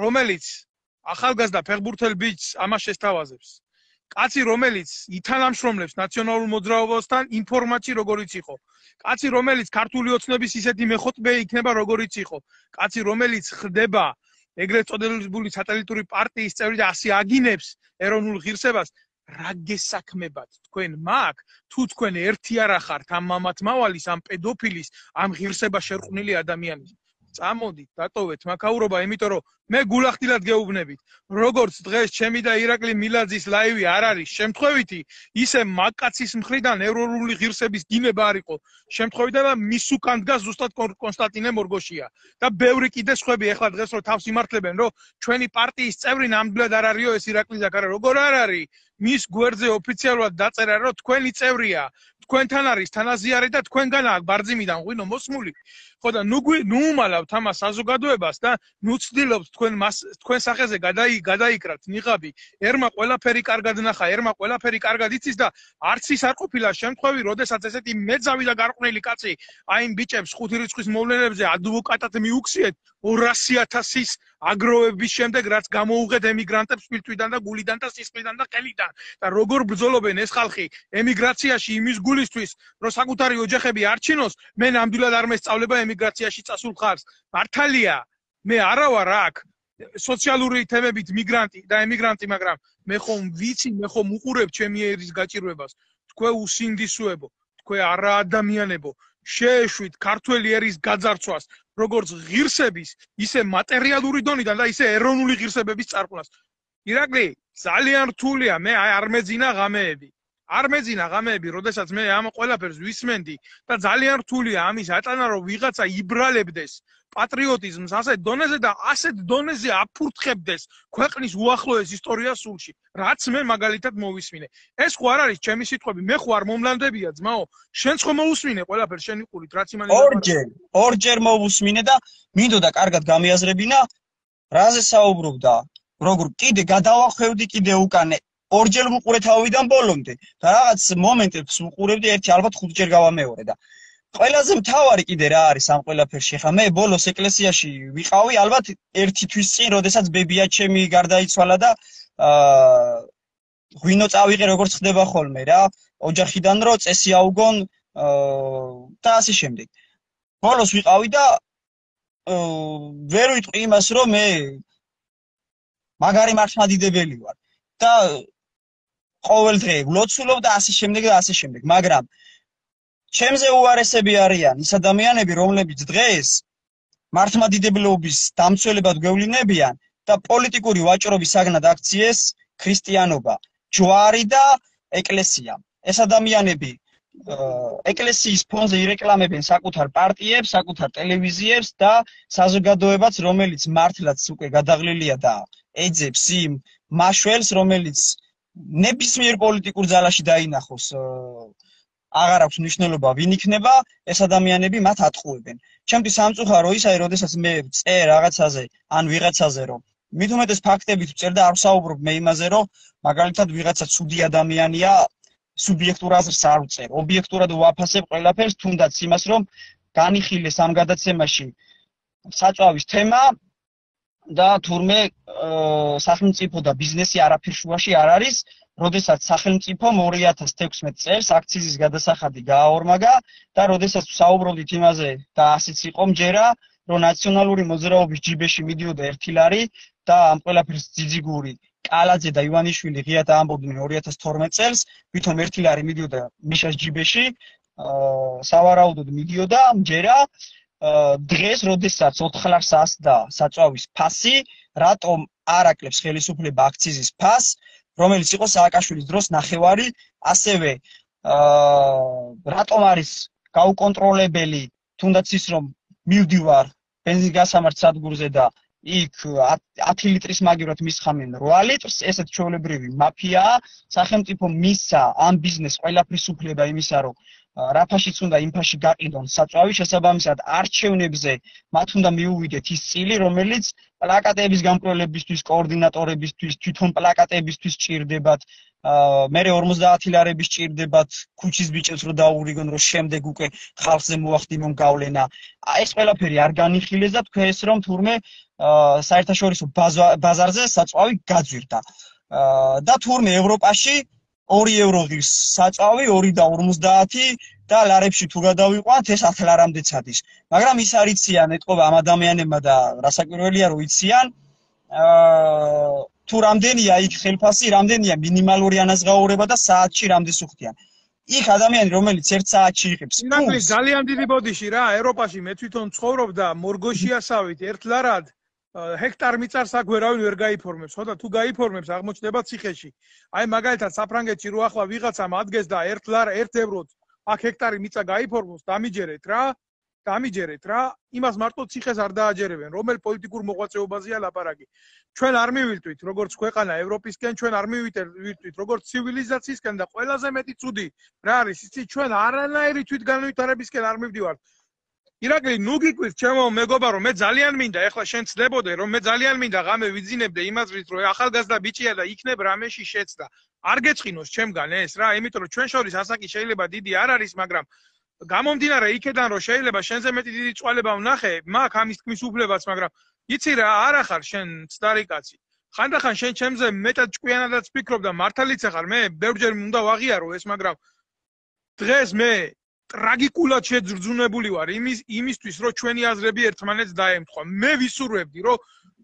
რომელიც ახალგაზრდა ფეხბურთელ ბიჭს ამას შესთავაზებს კაცი რომელიც ითანამშრომლებს ნაციონალურ მოძრაობასთან ინფორმაცი როგორიც იყო კაცი რომელიც ქართული ოცნების ისეთი მეხოტბე იქნება როგორიც იყო კაცი რომელიც ხდება ეგრეთ წოდებული სატელიტური პარტიის წევრი და ასე აგინებს ეროვნულ ღირსებას რა გესაქმებათ თქვენ მაგ თუ თქვენ ერთი არა ხართ ამ მამათმავალის ამ პედოფილის ამ ღირსება შერყვნილი ადამიანის წამოდით დატოვეთ მაქაურობა იმიტომ რომ მე გულახდილად გეუბნებით როგორც დღეს ჩემი და ირაკლი მილაძის ლაივი არ არის შემთხვევითი ისე მაგკაცის მხრიდან ეროვნული ღირსების დინება არ იყო შემთხვევითი და მის უკან დგას ზუსტად კონსტანტინე მორგოშია და ბევრი კიდე სხვები ეხლა დღეს რომ თავს იმართლებენ რომ ჩვენი პარტიის წევრი ნამდვილად არ არისო ეს ირაკლი ზაქარა როგორ არ არის მის გვერდზე ოფიციალურად დაწერა რომ თქვენი წევრია თქვენთან არის თანაზიარი და თქვენგან აქვს ბარძიმიდან ღვინო მოსმული ხო და ნუ უმალავთ ამას საზოგადოებას და ნუ ცდილობთ თქვენ სახეზე გადაიკრათ ნიღაბი ერმა ყველაფერი კარგად ნახა ერმა ყველაფერი კარგად იცის და არც ის არ ყოფილა შემთხვევი როდესაც ესეთი მეძავი და გარყვნილი კაცი აი იმ ბიჭებს ხუთი რიცხვის მოვლენებზე ადვოკატად მიუქციეთ 200,000-ის აგროვების შემდეგ რაც გამოუღეთ ემიგრანტებს სპირტვიდან და გულიდან და სისხლიდან და ყელიდან და როგორ ბრძოლობენ ეს ხალხი ემიგრაციაში იმის გულისთვის რომ საკუთარი ოჯახები არჩინოს მე ნამდვილად არ მესწავლება ემიგრაციაში წასულ ხარს მართალია მე არა ვარ აქ სოციალური თემებით მიგრანტი და ემიგრანტი მაგრამ მე ხომ ვიცი მე ხომ უყურებ ჩემი ერის გაჭირვებას თქვენ უსინდისოებო თქვენ არა ადამიანებო შეეშვით ქართველი ერის გაძარცვას როგორც ღირსების ისე მატერიალური დონიდან და ისე ეროვნული ღირსებების წარყვას ირაკლი ძალიან რთულია მე არ მეძინა ღამეები როდესაც მე ამ ყველაფერს ვისმენდი და ძალიან რთულია ამის ატანა რომ ვიღაცა იბრალებდეს პატრიოტიზმს ასეთ დონეზე და ასეთ დონეზე აფურთხებდეს ქვეყნის უახლოეს ისტორიას სულში რაც მე მაგალითად მოვისმინე ეს ხო არ არის ჩემი სიტყვები მე ხო არ მომლანდებია ძმაო შენც ხო მოусმინე ყველაფერს შენი ყურით რაც იმან ორჯერ მოვусმინე და მინდოდა კარგად გამიაზრებინა რაზე საუბრობდა როგორ კიდე გადავახვევდი კიდე უკან ორჯერ ვუყურე თავიდან ბოლომდე და რაღაც მომენტებს ვუყურებდი ერთი ალბათ 5 ჯერ გავამეორე და ყველაზე მთავარი კიდე რა არის ამ ყველაფერში ხა მე ბოლოს ეკლესიაში ვიყავი ალბათ ერთი თვის წინ როდესაც ბებია ჩემი გარდაიცვალა და ღვინო წავიღე როგორც ხდება ხოლმე რა ოჯახიდან რო წესი აუგონ და ასე შემდეგ ბოლოს ვიყავი და ვერ ვიტყვი იმას რომ მე მაგარი მართლმადიდებელი ვარ და ყოველ დღე ვლოცულობ და ასე შემდეგ მაგრამ ჩემზე უარესები არიან ის ადამიანები რომლებიც დღეს მართლმადიდებლობის დამცველებად გვევლინებიან და პოლიტიკური ვაჭრობის საგნად აქციეს ქრისტიანობა ჯვარი და ეკლესია ეს ადამიანები ეკლესიის ფონზე ირეკლამებენ საკუთარ პარტიებს საკუთარ ტელევიზიებს და საზოგადოებაც რომელიც მართლაც უკვე გადაღლილია და ეძებს იმ მაშველს რომელიც ნებისმიერ პოლიტიკურ ძალაში დაინახოს აღარ აქვს მნიშვნელობა ვინ იქნება ეს ადამიანები მათ ატყუებენ ჩემთვის სამწუხარო ისაა როდესაც მე წერ რაღაცაზე ან ვიღაცაზე რომ მით უმეტეს ფაქტებით ვწერ და არ ვსაუბრობ მე იმაზე რომ მაგალითად ვიღაცა ცუდი ადამიანია სუბიექტურ აზრს არ ვწერ ობიექტურად ვაფასებ ყველაფერს თუნდაც იმას რომ განიხილეს ამ გადაცემაში საწვავის თემა და თურმე სახელმწიფო და ბიზნესი არაფერ შუაში არ არის, როდესაც სახელმწიფომ 2016 წელს აქციზის გადასახადი გააორმაგა და როდესაც საუბრობდით იმაზე და ასეც იყო მჯერა, რომ ნაციონალური მოძრაობის ჯიბეში მიდიოდა 1 ლარი და ამ ყველაფერს ძიძიგური კალაძე და ივანიშვილი ღიად ამბობდნენ 2012 წელს, ვითომ 1 ლარი მიდიოდა მიშას ჯიბეში, სავარაუდოდ მიდიოდა მჯერა დღეს, როდესაც 4 ლარს ასდა საწვავის ფასი, რატომ არ აკლებს ხელისუფლება აქციზის ფასს, რომელიც იყო სააკაშვილის დროს ნახევარი, ასევე რატომ არის გაუკონტროლებელი, თუნდაც ის რომ მივდივარ ბენზინგასამართ სადგურზე და იქ 10 ლიტრის მაგივრად მისხამენ 8 litrს, ესეთ ჩვეულებრივი მაფიაა, სახელმწიფო მისცა ამ ბიზნესს ყველაფრის უფლება იმისა, რომ რა ფაშიც უნდა იმ ფაში გაყიდონ საწვავი, შესაბამისად არჩევნებზე მათ უნდა მიუვიდეთ ის წილი, რომელიც პლაკატების გამკვლელებისთვის, კოორდინატორებისთვის, თვითონ პლაკატებისთვის ჭირდებათ, მერე 50 ლარების ჭირდებათ ქუჩის ბიჭებს რომ დაურიგონ, რომ შემდეგ უკვე ხალხზე მოახდინონ გავლენა. ეს ყველაფერი არ განიხილეს და თქვენს რომ თურმე საერთაშორისო ბაზარზე საწვავი გაძვირდა. და თურმე ევროპაში 2 ევრო ღირს საწვავი 2.50 და ლარებში თუ გადავიყვანთ ეს 10 ლარამდეც ადის. მაგრამ ის არ იციან ეთყობა ამ ადამიანებმა და რასაკვირველია რომ იციან თუ რამდენია იქ ხელფასი, რამდენია მინიმალური ანაზღაურება და საათში რამდენს უხდიან. იქ ადამიანი რომელიც 1 საათში იღებს. ნაკლი ძალიან დიდი ბოდიში რა, ევროპაში მე თვითონ ცხოვრობდა მორგოშიასავით 1 ლარად ჰექტარ მიწარს აქ ვერავინ ვერ გაიფორმებს, ხო და თუ გაიფორმებს აღმოჩნდება ციხეში. აი მაგალითად საფრანგეთში რო ახლა ვიღაცამ ადგეს და 1 ლარ 1 ევროთ აქ ჰექტარი მიწა გაიფორმოს, დამიჯერეთ რა, იმას მარტო ციხეს არ დააჯერებენ, რომელ პოლიტიკურ მოღვაწეობაზეა ლაპარაკი. ჩვენ არ მივიტვით როგორც ქვეყანა ევროპისკენ, ჩვენ არ მივიტვით როგორც ცივილიზაციისკენ და ყველაზე მეტი ცუდი რა არის, იცი ჩვენ არანაირი თვითგანვითარებისკენ არ მივდივართ. ირაკლი, ნუ გიკვირს ჩემო მეგობარო, მე ძალიან მინდა ეხლა შენ ცდებოდე რომ მე ძალიან მინდა ღამე ვიძინებდე იმაზრით რომ ახალგაზრდა ბიჭია და იქნებ რამეში შეცდა. არ გეწყინოს ჩემგან ეს რა, იმიტომ რომ ჩვენ შორის ასაკი შეიძლება დიდი არ არის, მაგრამ გამომდინარე იქედან რომ შეიძლება შენზე მეტი დიდი წვალება ვნახე, მაქვს ამის თქმის უფლებაც, მაგრამ იცი რა, არ ახარ შენ ცდარი კაცი. ხანდახან შენ ჩემზე მეტად ჭკვიანადაც ფიქრობ და მართალიც ახარ, მე ბევრჯერ უნდა ვაღიარო ეს, მაგრამ დღეს მე ტრაგიკულად შეძრძუნებული ვარ იმისთვის, რომ ჩვენი აზრები ერთმანეთს დაემთხვა. მე ვისურვებდი, რომ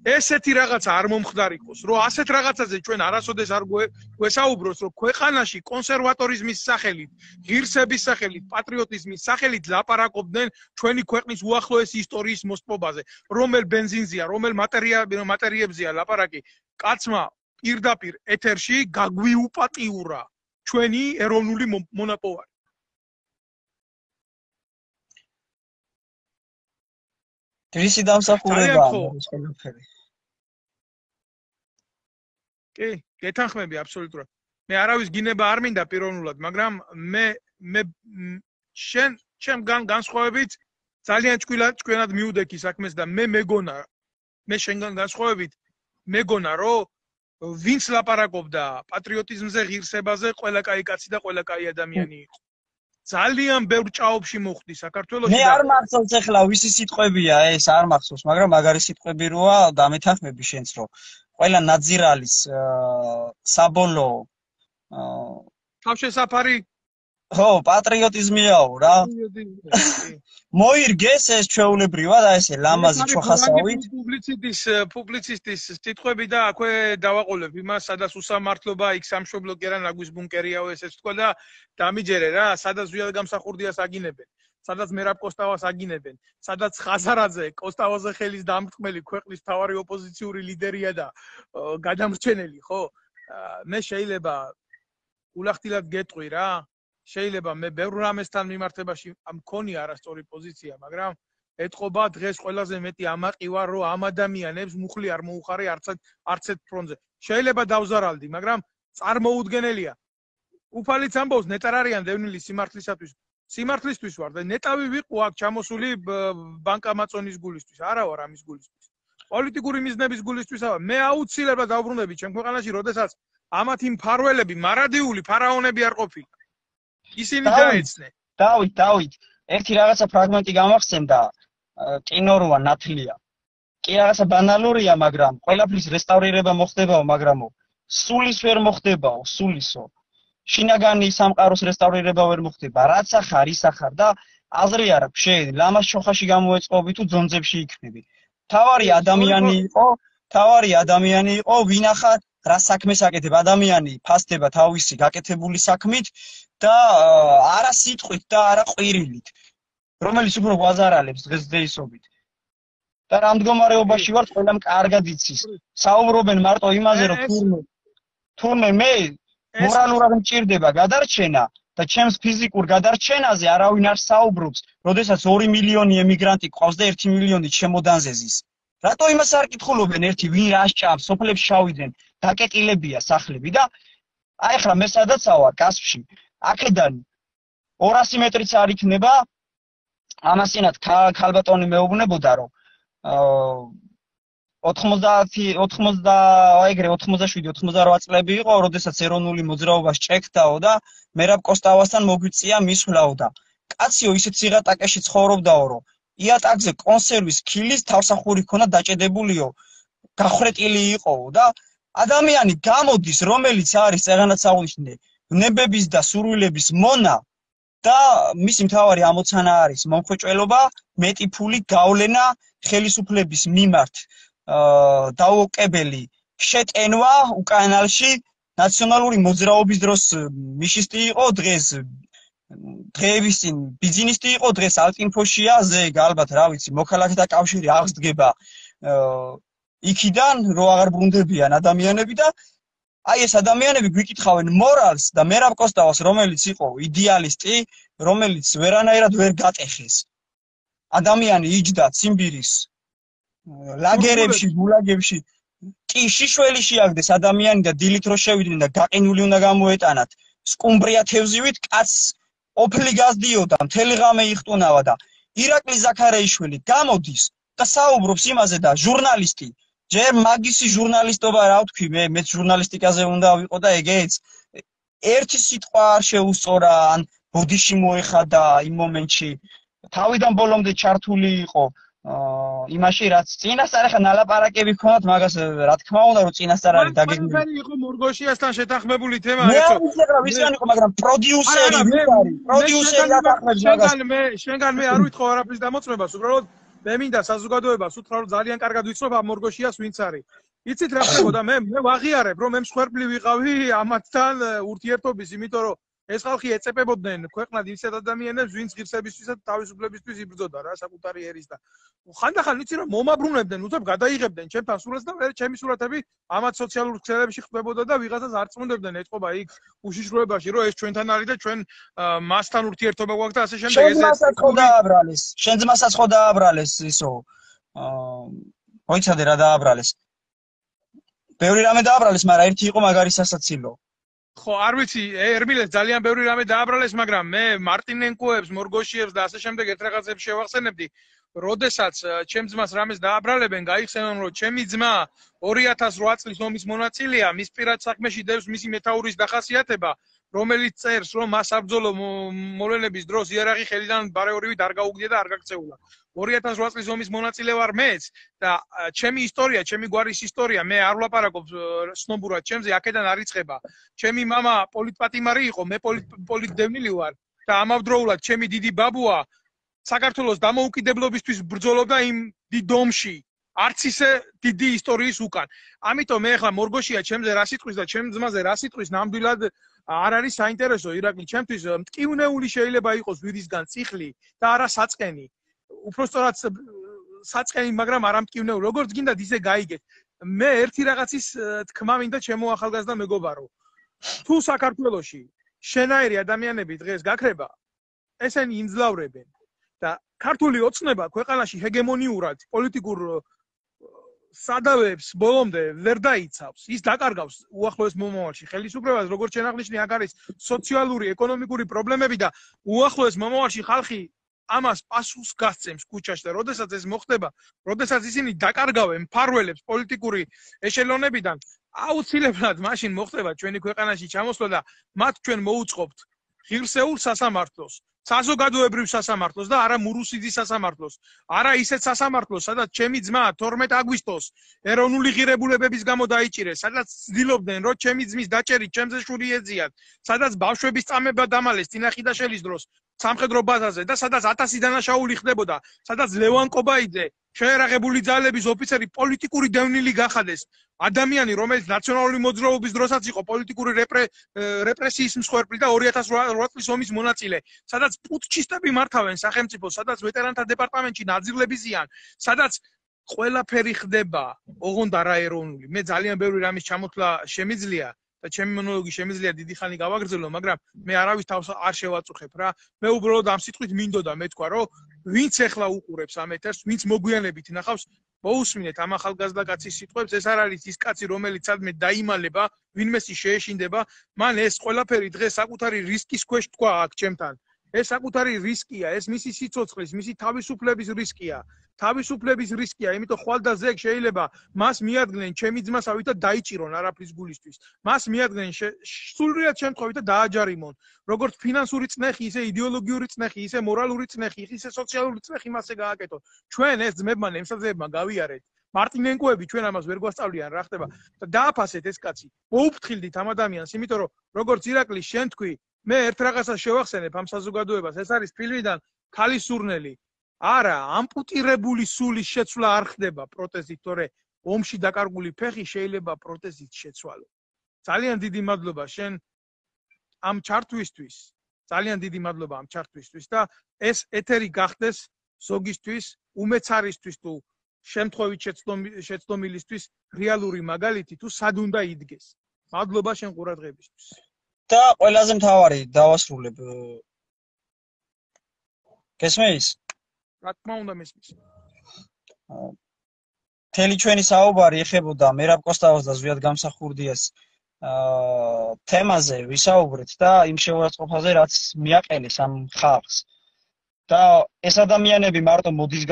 ესეთი რაღაცა არ მომხდარიყოს, რომ ასეთ რაღაცაზე ჩვენ არასოდეს არ გვესაუბროს, რომ ქვეყანაში კონსერვატორიზმის სახელით, ღირსების სახელით, პატრიოტიზმის სახელით ლაპარაკობდნენ ჩვენი ქვეყნის უახლოესი ისტორიის მოსპობაზე, რომელ ბენზინზეა, რომელ მატერიებზეა ლაპარაკი. კაცმა პირდაპირ ეთერში გაგვიუპატიურა ჩვენი ეროვნული მონაპოვარი. დრისი დამსახურებაა ეს ყველაფერი. კი, გეთანხმები აბსოლუტურად. მე არავის გინება არ მინდა პიროვნულად, მაგრამ მე შენ განსხვავებით ძალიან ჭკვიანად მიუდექი საქმეს და მე მეგონა, მე შენგან განსხვავებით მეგონა, რომ ვინც ლაპარაკობდა პატრიოტიზმზე, ღირსებაზე, ყველა კაი კაცი და ყველა კაი ადამიანი იყო. ძალიან ბევრ ჭაობში მოხდი საქართველოში. მე არ მახსოვს ახლა ვისი სიტყვებია ეს, არ მახსოვს, მაგრამ მაგარი სიტყვები როა დამეთანხმები შენც, რომ ყველა ნაძირალის საბოლოო თავშესაფარი ხო, პატრიოტიზმიაო რა. მოირგეს ეს ჩვეულებრივად, აი ესე ლამაზი ჩოხასავით. პუბლიცისტის სიტყვები და აქვე დავაყოლებ იმას, სადაც უსამართლობა, იქ სამშობლო კი არა, ნაგვის ბუნკერიაო ესეც თქვა და დამიჯერე რა, სადაც ზვიად გამსახურდიას აგინებენ, სადაც მერაბ კოსტავას აგინებენ, სადაც ხაზარაძე კოსტავაზე ხელის დამრტყმელი ქვეყნის მთავარი ოპოზიციური ლიდერია და გადამრჩენელი, ხო? მე შეიძლება ულახtildeლად გეტყვი რა. შეიძლება მე ბევრ რამესთან მიმართებაში მქონია არასწორი პოზიცია, მაგრამ ეთყობა დღეს ყველაზე მეტი ამაყი ვარ, რომ ამ ადამიანებს მუხლი არ მოუხარე არც ერთ ფრონტზე. შეიძლება დავზარალდი, მაგრამ წარმოუდგენელია. უფალიც ამბობს, ნეტარ არიან დევნილი სიმართლისათვის. სიმართლისთვის ვარ და ნეტავი ვიყო აქ ჩამოსული ბანკამაწონის გულისთვის, არა ვარ ამის გულისთვის. პოლიტიკური მიზნების გულისთვისაა. მე აუცილებლად დავბრუნები ჩემ ქვეყანაში, როდესაც ამათი მფარველები, მარადიული ფარაონები არ ყოფილი. ისინი დაეცნენ. დავით. ერთი რაღაცა ფრაგმენტი გამახსენდა, კინო როა ნათლია. კი რაღაცა ბანალურია, მაგრამ ყველაფრის რესტავრირება მოხდებაო, მაგრამ სულის ვერ მოხდებაო, სულისო. შინაგანი სამყაროს რესტავრირება ვერ მოხდება. რაც ახარ, ის ახარ და აზრი არ აქვს, შეიძლება ლამას ჩოხაში გამოეწყობი თუ ძონძებში იქნები. თავარი ადამიანი იყო, ვინ ახარ, რა საქმეს აკეთებ, ადამიანი ფასდება თავისი გაკეთებული საქმით და არა სიტყვით და არა ყვირილით, რომელიც უფრო გვაზარალებს დღესდღეობით. და რა მდგომარეობაში ვართ, ყველამ კარგად იცის. საუბრობენ მარტო იმაზე, რომ თურმე მე მორალურად მჭირდება გადარჩენა და ჩემს ფიზიკურ გადარჩენაზე არავინ არ საუბრობს, როდესაც 2 მილიონი ემიგრანტი ყავს და 1 მილიონი ჩემოდანზე ზის. რატო იმას არ კითხულობენ ერთი ვინ რა სჭამს, სოფლებში შავიდნენ, დაკეტილებია სახლები და აი ახლა მე სადაც ავარ კასპში, აქედან 200 მეტრიც არ იქნება, ამასინათ ქალბატონი მეუბნებოდა რომ 87-88 წლები იყო, როდესაც ეროვნული მოძრაობა შეჭექდაო და მერაბ კოსტავასთან მოგვიწია მისვლაო და კაციო ისეთ სიღატაკეში ცხოვრობდაო, რომ იატაკზე კონსერვის ქილის თავსახური ქონდა დაჭედებულიო, გახრეტილი იყოო და ადამიანი გამოდის, რომელიც არის წეღანაც აღნიშნე, ნებების და სურვილების მონა და მისი მთავარი ამოცანა არის მომხვეჭველობა, მეტი ფული გავლენა ხელისუფლების მიმართ დაუოკებელი შეტენვა უკანალში ნაციონალური მოძრაობის დროს მიშისტი იყო დღეს დღეების წინ ბიზნესისტი იყო დღეს ალტინფოშია ზე ალბათ რა ვიცი მოქალაქეთა კავშირი აღსდგება იქიდან რო აღარ ბრუნდებიან ადამიანები და აი ეს ადამიანები გვიკითხავენ მორალს და მერაბ კოსტავას რომელიც იყო იდეალისტი რომელიც ვერანაირად ვერ გატეხეს ადამიანი იჯდა ციმბირის ლაგერებში გულაგებში კი შიშველი შეაგდეს ადამიანი და დილით რო შევიდნენ და გაყინული უნდა გამოეტანათ სკუმბრია თევზივით კაცს ოფლი გაზდიოდა მთელი ღამე იხტუნავა და ირაკლი ზაქარეიშვილი გამოდის და საუბრობს იმაზე და ჟურნალისტი ჯერ მაგისი ჟურნალისტობა რა ვთქვი მეც ჟურნალისტიკაზე უნდა ვიყო და ეგეც ერთი სიტყვა არ შეუსწორა ან ბოდიში მოეხადა იმ მომენტში თავიდან ბოლომდე ჩართული იყო იმაში რაც წინასწარ ახლა ნალაპარაკები ქონათ მაგას რა თქმა უნდა რომ წინასწარ არის დაგეგმილი. ყველაფერი იყო მორგოშიასთან შეთანხმებული თემა ეხლა. მე ვიცი რა ვისგან იყო მაგრამ პროდიუსერი ვინ არის? პროდიუსერი ათანხმებს მაგას. შენგან მე არ ვითხოვ არაფრის დამოწმებას, უბრალოდ მე მინდა საზოგადოებას უთხრა რომ ძალიან კარგად ვიცნობ ამ მორგოშიას ვინც არის. იცით რა ხდებოდა მე ვაღიარებ რომ მე მსხვერპლი ვიყავი ამათთან ურთიერთობის, იმიტომ რომ ეს ხალხი ეწეპებოდნენ ქვეყნად ისეთ ადამიანებს, ვინც ღირსებისთვის და თავისუფლებისთვის იბრძოდა რა საკუთარი ერის და ხანდახან იცი რომ მომაბრუნებდნენ, უცებ გადაიღებდნენ ჩემთან სურათს და მე ჩემი სურათები ამათ სოციალურ ქსელებში ხდებოდა და ვიღაცას არ წმუნდებდნენ ეთყობა იქ უშიშროებაში რომ ეს ჩვენთან არის და ჩვენ მასთან ურთიერთობა გვაქვს და ასე შემდეგ ეს შენძმასაც ხო დააბრალეს შენძმასაც ხო დააბრალეს ისო მოიცადე რა დააბრალეს ბევრი რამე დააბრალეს მაგრამ ერთი იყო მაგარი სასაცილო ხო არ ვიცი ერმილეს ძალიან ბევრი რამე დააბრალეს მაგრამ მე მარტინენკოებს მორგოშიებს და ასე შემდეგ ერთ რაღაცებს შევახსენებდი როდესაც ჩემს ძმას რამეს დააბრალებენ გაიხსენონ რომ ჩემი ძმა 2008 წლის ომის მონაწილეა მის პირად საქმეში დევს მისი მეთაურის დახასიათება რომელიც წერს რომ მას საბრძოლო მოვლენების დროს იარაღი ხელიდან ბარეორივით არ გაუგდია და არ გაქცეულა 2008 წლის ომის მონაწილე ვარ მეც და ჩემი ისტორია, ჩემი გვარის ისტორია, მე არ ვლაპარაკობ სნობურად ჩემზე, აქედან არ იწყება. ჩემი მამა პოლიტპატიმარი იყო, მე პოლიტდევნილი ვარ და ამავდროულად ჩემი დიდი ბაბუა საქართველოს დამოუკიდებლობისთვის ბრძოლობდა იმ დიდ ომში. არც ისე დიდი ისტორიის უკან. ამიტომ მე ახლა მორგოშია ჩემზე რა სიტყვის და ჩემ ძმაზე რა სიტყვის ნამდვილად არ არის საინტერესო ირაკლი ჩემთვის მტკივნეული შეიძლება იყოს ვირისგან წიხლი და არა საწყენი. უпростоრად საწყენი, მაგრამ არ ამტკივნეულ. როგორც გინდათ ისე გაიგეთ. მე ერთი რაღაცის თქმა მინდა ჩემო ახალგაზრდა მეგობარო. თუ საქართველოში შენაირი ადამიანები დღეს გაქრება, ესენი იმძლავრებენ და ქართული ოცნება ქვეყანაში ჰეგემონიურად პოლიტიკურ სადავეებს ბოლომდე ვერ დაიცავს. ის დაკარგავს უახლოეს მომავალში ხელისუფლებას, როგორც შენაღნიშნე, აქ არის სოციალური, ეკონომიკური პრობლემები და უახლოეს მომავალში ხალხი ამას პასუხს გასცემს ქუჩაში და როდესაც ეს მოხდება, როდესაც ისინი დაკარგავენ მფარველებს პოლიტიკური ეშელონებიდან, აუცილებლად მაშინ მოხდება ჩვენი ქვეყანაში ჩამოსვლა და მათ ჩვენ მოუწყობთ ღირსეულ სასამართლოს. საზოგადოებრივ სასამართლოს და არა მურუსიძის სასამართლოს. არა ისეთ სასამართლოს, სადაც ჩემი ძმა 12 აგვისტოს ეროვნული ღირებულებების გამო დაიჭირეს, სადაც ცდილობდნენ, რომ ჩემი ძმის დაჭერით ჩემზე შური ეძიათ, სადაც ბავშვების წამება დამალეს წინახიდაშელის დროს სამხედრო ბაზაზე და სადაც 1000 დანაშაული ხდებოდა, სადაც ლევან კობაიძე შეერაღებული ძალების ოფიცერი პოლიტიკური დევნილი გახადეს. ადამიანი, რომელიც ნაციონალური მოძრაობის დროსაც იყო პოლიტიკური რეპრესიის მსხვერპლი და 2008 წლის ომის მონაწილე, სადაც პუტჩისტები მართავენ სახელმწიფოს, სადაც ვეტერანთა დეპარტამენტში ნაძილები ზიან, სადაც ყველაფერი ხდება, ოღონდ არა ეროვნული. მე ძალიან ბევრი რამის ჩამოთვლა შემიძლია და ჩემი მონოლოგი შემიძლია დიდი ხანი გავაგრძელო, მაგრამ მე არავის თავს არ შევაწუხებ რა. მე უბრალოდ ამ სიტყვით მინდოდა მეთქვა, რომ ვინც ახლა უყურებს ამ ეთერს, ვინც მოგვიანებით ნახავს, მოусმინეთ ამ ახალგაზრდა კაცის სიტყვებს, ეს არ არის ის კაცი, რომელიც სადმე დაიმალება, ვინმესი შეეშინდება, მან ეს ყველაფერი დღეს საკუთარი რისკის ქვეშ თქვა აქ ჩემთან. ეს საკუთარი რისკია, ეს მისი სიცოცხლის, მისი თავისუფლების რისკია. თავისუფლების რისკია, იმიტომ ხვალ და ზეგ შეიძლება მას მიადგნენ ჩემი ძმასავით და დაიჭირონ არაფრის გულისთვის. მას მიადგნენ სრულიად შემთხვევით და დააჯარიმონ. როგორც ფინანსური წნეხი, ისე იდეოლოგიური წნეხი, ისე მორალური წნეხი, ისე სოციალური წნეხი მასზე გააკეთონ. ჩვენ ეს ძმებმა, ემსაძეებმა გავიარეთ. მარტინენკოები ჩვენ ამას ვერ გვასწავლიან რა ხდება და დააფასეთ ეს კაცი. მოუფრთხილდით ამ ადამიანს, იმიტომ რომ როგორც ირაკლი შენ თქვი, მე ერთ რაღაცას შევახსენებ ამ საზოგადოებას, ეს არის ფილმიდან ქალის სურნელი. არა, ამპუტირებული სულის შეცვლა არ ხდება პროტეზით, თორე ომში დაკარგული ფეხი შეიძლება პროტეზით შეცვალო. ძალიან დიდი მადლობა შენ ამ ჩართვისთვის. ძალიან დიდი მადლობა ამ ჩართვისთვის და ეს ეთერი გახდეს ზოგისთვის, უმეცარისთვის თუ შემთხვევით შეცდომილისთვის რეალური მაგალითი თუ სად უნდა იდგეს. მადლობა შენ ყურადღებისთვის. და ყველაზე მთავარი დავასრულებ. გესმის? რა თქმა უნდა მესმის. მთელი ჩვენი საუბარი ეხებოდა მერაბ კოსტავას და ზვიად გამსახურდიას თემაზე ვისაუბრეთ და იმ შეურაცხყოფაზე, რაც მიაყენეს ამ ხალხს. და ეს ადამიანები მარტო მოდის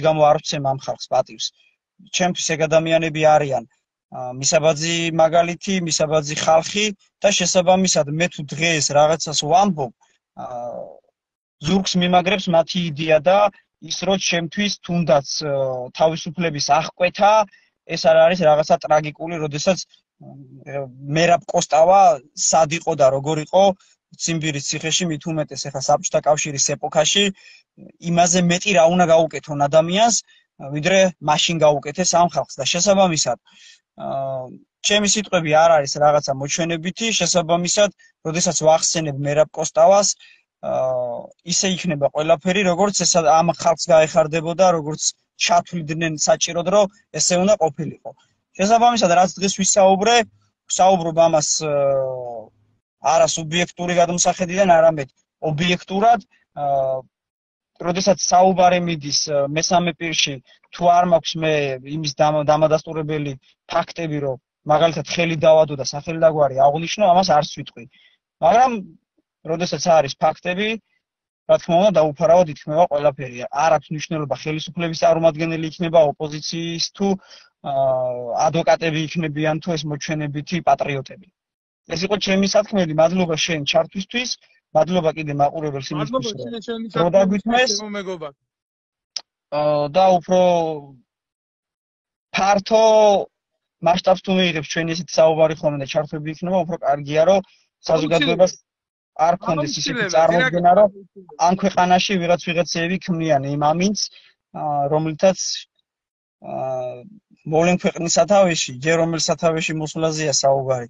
გამო არ ვცემ ამ ხალხს პატივს. ჩემთვის ეგ ადამიანები არიან მისაბაძი მაგალითი, მისაბაძი ხალხი და შესაბამისად მე თუ დღეს რაღაცას ვამბობ, ზურგს მიმაგრებს მათი იდეა და ის რომ ჩემთვის თუნდაც თავისუფლების აღკვეთა ეს არ არის რაღაცა ტრაგიკული, როდესაც მერაბ კოსტავა სად იყო და როგორ იყო ციმბირის ციხეში, მით უმეტეს ახლა საბჭოთა კავშირის ეპოქაში, იმაზე მეტი რა უნდა გაუკეთონ ადამიანს, ვიდრე მაშინ გაუკეთეს ამ ხალხს და შესაბამისად ჩემი სიტყვები არ არის რაღაცა მოჩვენებითი, შესაბამისად, როდესაც ვახსენებ მერაბ კოსტავას, ისე იქნება ყველაფერი, როგორც ეს ამ ხალხს გაეხარდებოდა, როგორც ჩათვლიდნენ საჭიროდ, რომ ესე უნდა ყოფილიყო. შესაბამისად, რაც დღეს ვისაუბრობ ამას არა სუბიექტური გადმოსახედიდან, არამედ ობიექტურად, როდესაც საუბარი მიდის მესამე პირში, თუ არ მაქვს მე იმის დამადასტურებელი ფაქტები, რომ მაგალითად ხელი დავადო და სახელი დაგვარი აღნიშნო, ამას არც ვიტყვი. მაგრამ როდესაც არის ფაქტები, რა თქმა უნდა, დაუფარავად იქნება ყველაფერი. არ აქვს მნიშვნელობა ხელისუფლების წარმომადგენელი იქნება ოპოზიციის თუ ადვოკატები იქნებიან თუ ეს მოჩვენებითი პატრიოტები. ეს იყო ჩემი სათქმელი, მადლობა შენ ჩართვისთვის, მადლობა კიდე მაყურებელს იმისთვის, რომ დაგვითმეს და უფრო ფართო მასშტაბს თუ მიიღებს ჩვენი ესეთი საუბარი ხოლმე და ჩართვები იქნება, უფრო კარგია, რომ საზოგადოებას არ ქონდეს ისეთი წარმოდგენა, რომ ამ ქვეყანაში ვიღაცეები ქმნიან იმ ამინდს, რომლითაც მოვლენ ქვეყნის სათავეში, ჯერ რომელ სათავეში მოსვლაზეა საუბარი.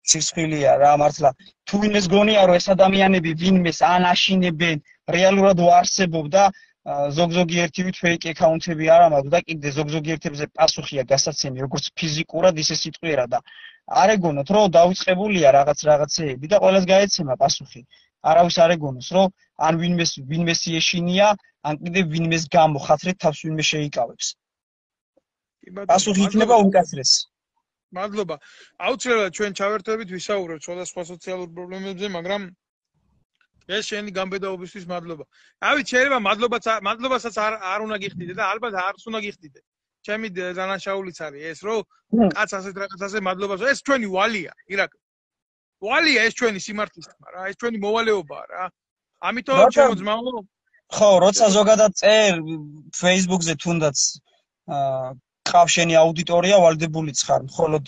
სიცხვილეა რა მართლა. თუ ვინმეს გონია, რომ ეს ადამიანები ვინმეს ან აშინებენ, რეალურად ვარსებობ და ზოგ-ზოგი ერთივით ფეიკ აკაუნტები არ ამაქვს და კიდე ზოგ-ზოგი ერთებზე პასუხია გასაცემი, როგორც ფიზიკურად, ისე სიტყვიერად და არ ეგონოთ, რომ დაიწყებულია რაღაცეები და ყველას გაეცემა პასუხი. არავის არ ეგონოს, რომ ან ვინმეს ეშინია, ან კიდე ვინმეს გამო ხათრით თავს ვინმე შეიკავებს. პასუხი იქნება უმკაცრეს. მადლობა. აუცილებლად ჩვენ ჩავერთვებით ვისაუბრებთ სხვადასხვა სოციალურ პრობლემებზე, მაგრამ ეს შენი გამბედაობისთვის მადლობა. ავით შეიძლება მადლობასაც არ უნდა გიხდიდე და ალბათ არც უნდა გიხდიდე. ჩემი დანაშაულიც არის ეს, რომ კაც ასეთ რაღაცაზე მადლობას. ეს ჩვენი ვალია, ირაკლი. ვალია ეს ჩვენი სიმართლის თქმა რა, ეს ჩვენი მოვალეობაა რა. ამიტომ როცა ჩემო ძმაო, ხო, როცა ზოგადად წერ Facebook-ზე თუნდაც ყავს შენი აუდიტორია ვალდებულიც ხარ, მხოლოდ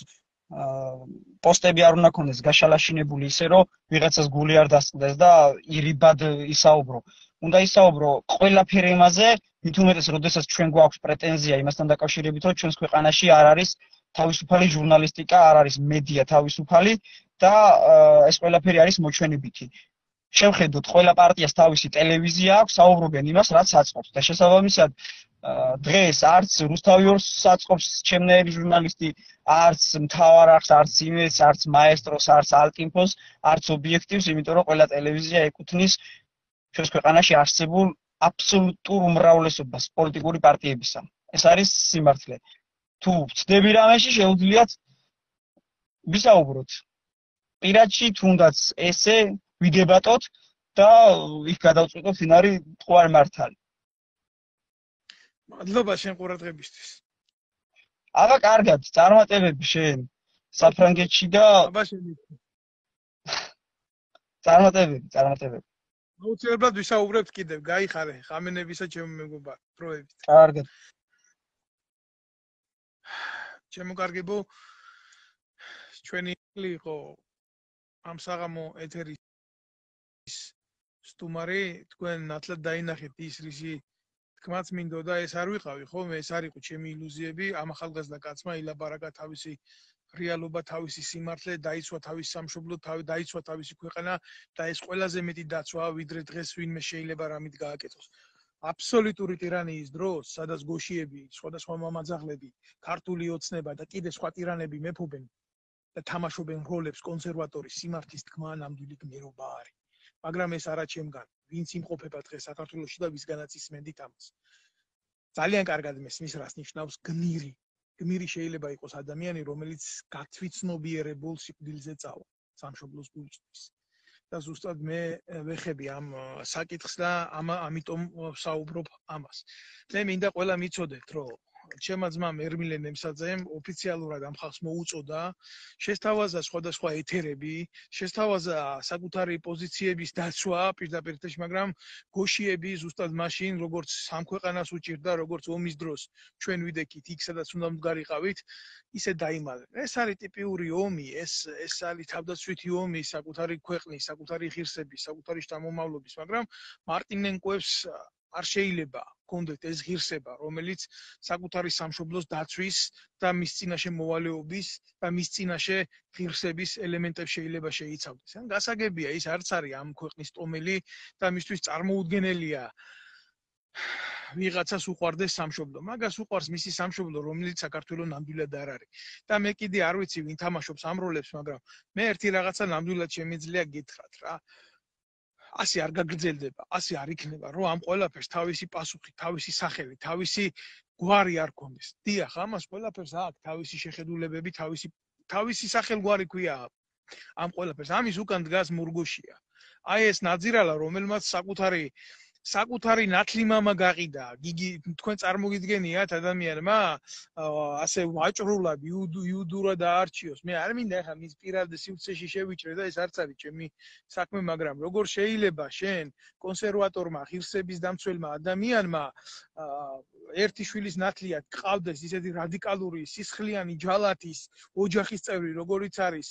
პოსტები არ უნდა ქონდეს გაშალაშინებული ისე რომ ვიღაცას გული არ დასწყდეს და ირიბად ისაუბრო. უნდა ისაუბრო ყველაფერი იმაზე, მით უმეტეს, როდესაც ჩვენ გვაქვს პრეტენზია იმასთან დაკავშირებით, რომ ჩვენს ქვეყანაში არ არის თავისუფალი ჟურნალისტიკა, არ არის მედია თავისუფალი და ეს ყველაფერი არის მოჩვენებითი. შევხედოთ, ყველა პარტიას თავისი ტელევიზია აქვს, საუბრობენ იმას, რაც აწყობს და შესაბამისად დღეს არც რუსთავი ორს აწყობს ჩემნაირი ჟურნალისტი, არც მთავარ არხს, არც იმედს, არც მაესტროს, არც ალტინფოს, არც ობიექტივს, იმიტომ რომ ყველა ტელევიზია ეკუთვნის ჩვენს ქვეყანაში არსებულ აბსოლუტურ უმრავლესობას პოლიტიკური პარტიებისა. ეს არის სიმართლე. თუ ვწდები რამეში, შეუძლიათ ვისაუბროთ. პირადში თუნდაც ესე ვიდებატოთ და იქ გადავწყვიტოთ ვინ არის მტკვარი მართალი. მადლობა შენ ყურადღებისთვის. აბა კარგად, წარმატებები შენ საფრანგეთში და აბა შენ წარმატებები. აუცილებლად ვისაუბრებთ კიდევ, გაიხარე ხამენებისა ჩემო მეგობარ პროექტით. კარგად. ჩემო კარგებო, ჩვენი იყო ამ საღამო ეთერის სტუმარი, თქვენ ნათლად დაინახეთ ის რისი თქმაც მინდოდა, ეს არ ვიყავი, ხო? ეს არ იყო ჩემი ილუზიები, ამ ახალგაზრდა კაცმა ილაბარაკა თავისი რეალობა, თავისი სიმართლე, დაიცვა თავისი სამშობლო, დაიცვა თავისი ქვეყანა და ეს ყველაზე მეტი დაცვა, ვიდრე დღეს ვინმე შეიძლება რამით გააკეთოს. აბსოლუტური ტირანიის დროს, სადაც გოშიები, სხვადასხვა მამაძაღლები, ქართული ოცნება და კიდე სხვა ტირანები მეფობენ და თამაშობენ როლებს კონსერვატორის სიმართლის თქმა ნამდვილი გმირობა არის. მაგრამ ეს არა ჩემგან, ვინც იმყოფება დღეს საქართველოში და ვისგანაც ისმენდით ამას. ძალიან კარგად მესმის, რას ნიშნავს გმირი. გმირი შეიძლება იყოს ადამიანი, რომელიც გათვითცნობიერებულ სიკვდილზე წავა სამშობლოს გულისთვის. და ზუსტად მე ვეხები ამ საკითხს და ამიტომ საუბრობ ამას. მე მინდა ყველა მიცოდეთ, რომ ჩემმა ძმამ ერმილე ნემსაძემ ოფიციალურად ამ ხალხს მოუწოდა, შესთავაზა სხვადასხვა ეთერები, შესთავაზა საკუთარი პოზიციების დაცვა პირდაპირ, მაგრამ გოშიები ზუსტად მაშინ, როგორც სამ ქვეყანას უჭირდა, როგორც ომის დროს ჩვენ ვიდექით იქ, სადაც უნდა მდგარიყავით, ისე დაიმალეს. ეს არის ტიპიური ომი, ეს არის თავდაცვითი ომი საკუთარი ქვეყნის, საკუთარი ღირსების, საკუთარი შთამომავლობის, მაგრამ მარტინენკოებს არ შეიძლება კონდეთ ეს ღირსება, რომელიც საკუთარი სამშობლოს დაცვის და მის წინაშე მოვალეობის და მის წინაშე ღირსების ელემენტებს შეიძლება შეიცავდეს. ან გასაგებია, ის არც არის ამ ქვეყნის ტომელი და მისთვის წარმოუდგენელია ვიღაცას უყვარდეს სამშობლო. მაგას უყვარს მისი სამშობლო, რომელიც საქართველოს ნამდვილად არ არის. და მე კიდე არ ვიცი ვინ თამაშობს ამ როლებს, მაგრამ მე ერთი რაღაცა ნამდვილად შემიძლია გითხრათ რა. ასე არ გაგრძელდება, ასე არ იქნება, რომ ამ ყველაფერს თავისი პასუხი, თავისი სახელი, თავისი გვარი არ კონდეს. დიახ, ამას ყველაფერს აქვს თავისი შეხედულებები, თავისი სახელგვარი ქვია ამ ყველაფერს. ამის უკან დგას მურგოშია. აი ეს ნაძირალა, რომელმაც საკუთარი ნათლი მამა გაყიდა. გიგი, თქვენ წარმოგიდგენიათ ადამიანმა ასე ვაჭრულად, იუდურად დაარჩიოს. მე არ მინდა ახლა მის პირად სივრცეში შევიჭრე და ეს არც არის ჩემი საქმე, მაგრამ როგორ შეიძლება შენ კონსერვატორმა, ღირსების დამცველმა ადამიანმა ერთი შვილის ნათლიად გყავდეს ისეთი რადიკალური, სისხლიანი ჯალათის ოჯახის წევრი, როგორიც არის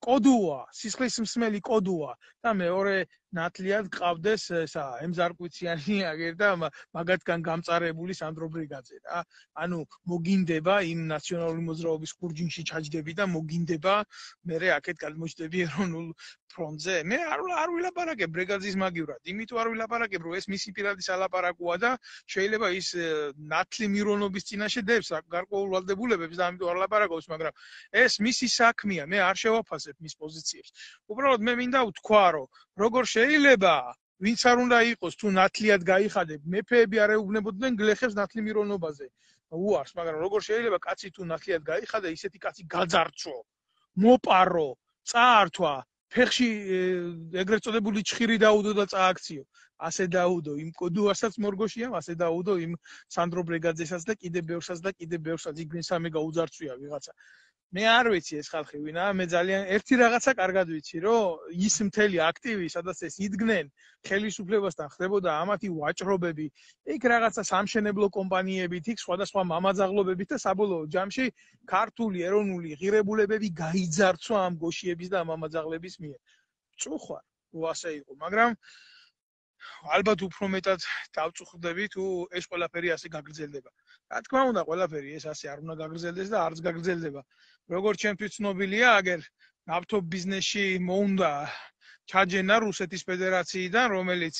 კოდუა, სისხლის მსმელი კოდუა და მეორე ნათლიად გყავდეს ესა ემზარკვიციანი აგერ და მაგათგან გამწარებული სანდრო ბრიგაძე რა. ანუ მოგინდება იმ ნაციონალური მოძრაობის ხურჯინში ჩაჯდები და მოგინდება მე აქეთ გადმოჭდები ეროვნულ ფრონტზე. მე არ ვილაპარაკებ ბრიგაძის მაგივრად, იმიტომ არ ვილაპარაკებ, რომ ეს მისი პირადი სალაპარაკოა და შეიძლება ის ნათლი მირონობის წინაშე დებს გარკვეულ ვალდებულებებს და ამიტომ არ ლაპარაკობს, მაგრამ ეს მისი საქმეა, მე არ შევაფასებ მის პოზიციებს. უბრალოდ მე მინდა ვთქვა, რომ როგორ შეიძლება ვინც არ უნდა იყოს თუ ნათლიად გაიხადებ, მეფეები არ ეუბნებოდნენ გლეხებს ნათლი მირონობაზე. უარს, მაგრამ როგორ შეიძლება კაცი თუ ნათლიად გაიხადა, ისეთი კაცი გაძარცვო, მოპარო, წაართვა, ფეხში ეგრეთ წოდებული ჩხირი დაუდო და წააქციო. ასე დაუდო იმ კოდუასაც მორგოშიამ, ასე დაუდო იმ სანდრო ბრიგაძესაც და კიდე ბევრსაც იქ მესამე გაუძარცვია ვიღაცა. მე არ ვიცი ეს ხალხი ვინა, მე ძალიან ერთი რაღაცა კარგად ვიცი, რომ ის მთელი აქტივი, სადაც ეს იდგნენ ხელისუფლებასთან ხდებოდა ამათი ვაჭრობები, იქ რაღაცა სამშენებლო კომპანიებით, იქ სხვადასხვა მამაძაღლობებით და საბოლოო ჯამში ქართული ეროვნული ღირებულებები გაიძარცვა ამ გოშიების და მამაძაღლების მიერ. წუხარ, რო ასე იყო, მაგრამ ალბათ უფრო მეტად დავწუხდები თუ ეს ყველაფერი ასე გაგრძელდება. რა თქმა უნდა, ყველაფერი ეს ასე არ უნდა გაგრძელდეს და არც გაგრძელდება. როგორც ჩემთვის ცნობილია, აგერ ნავთობ ბიზნესში მოუნდა ჩაჯენა რუსეთის ფედერაციიდან, რომელიც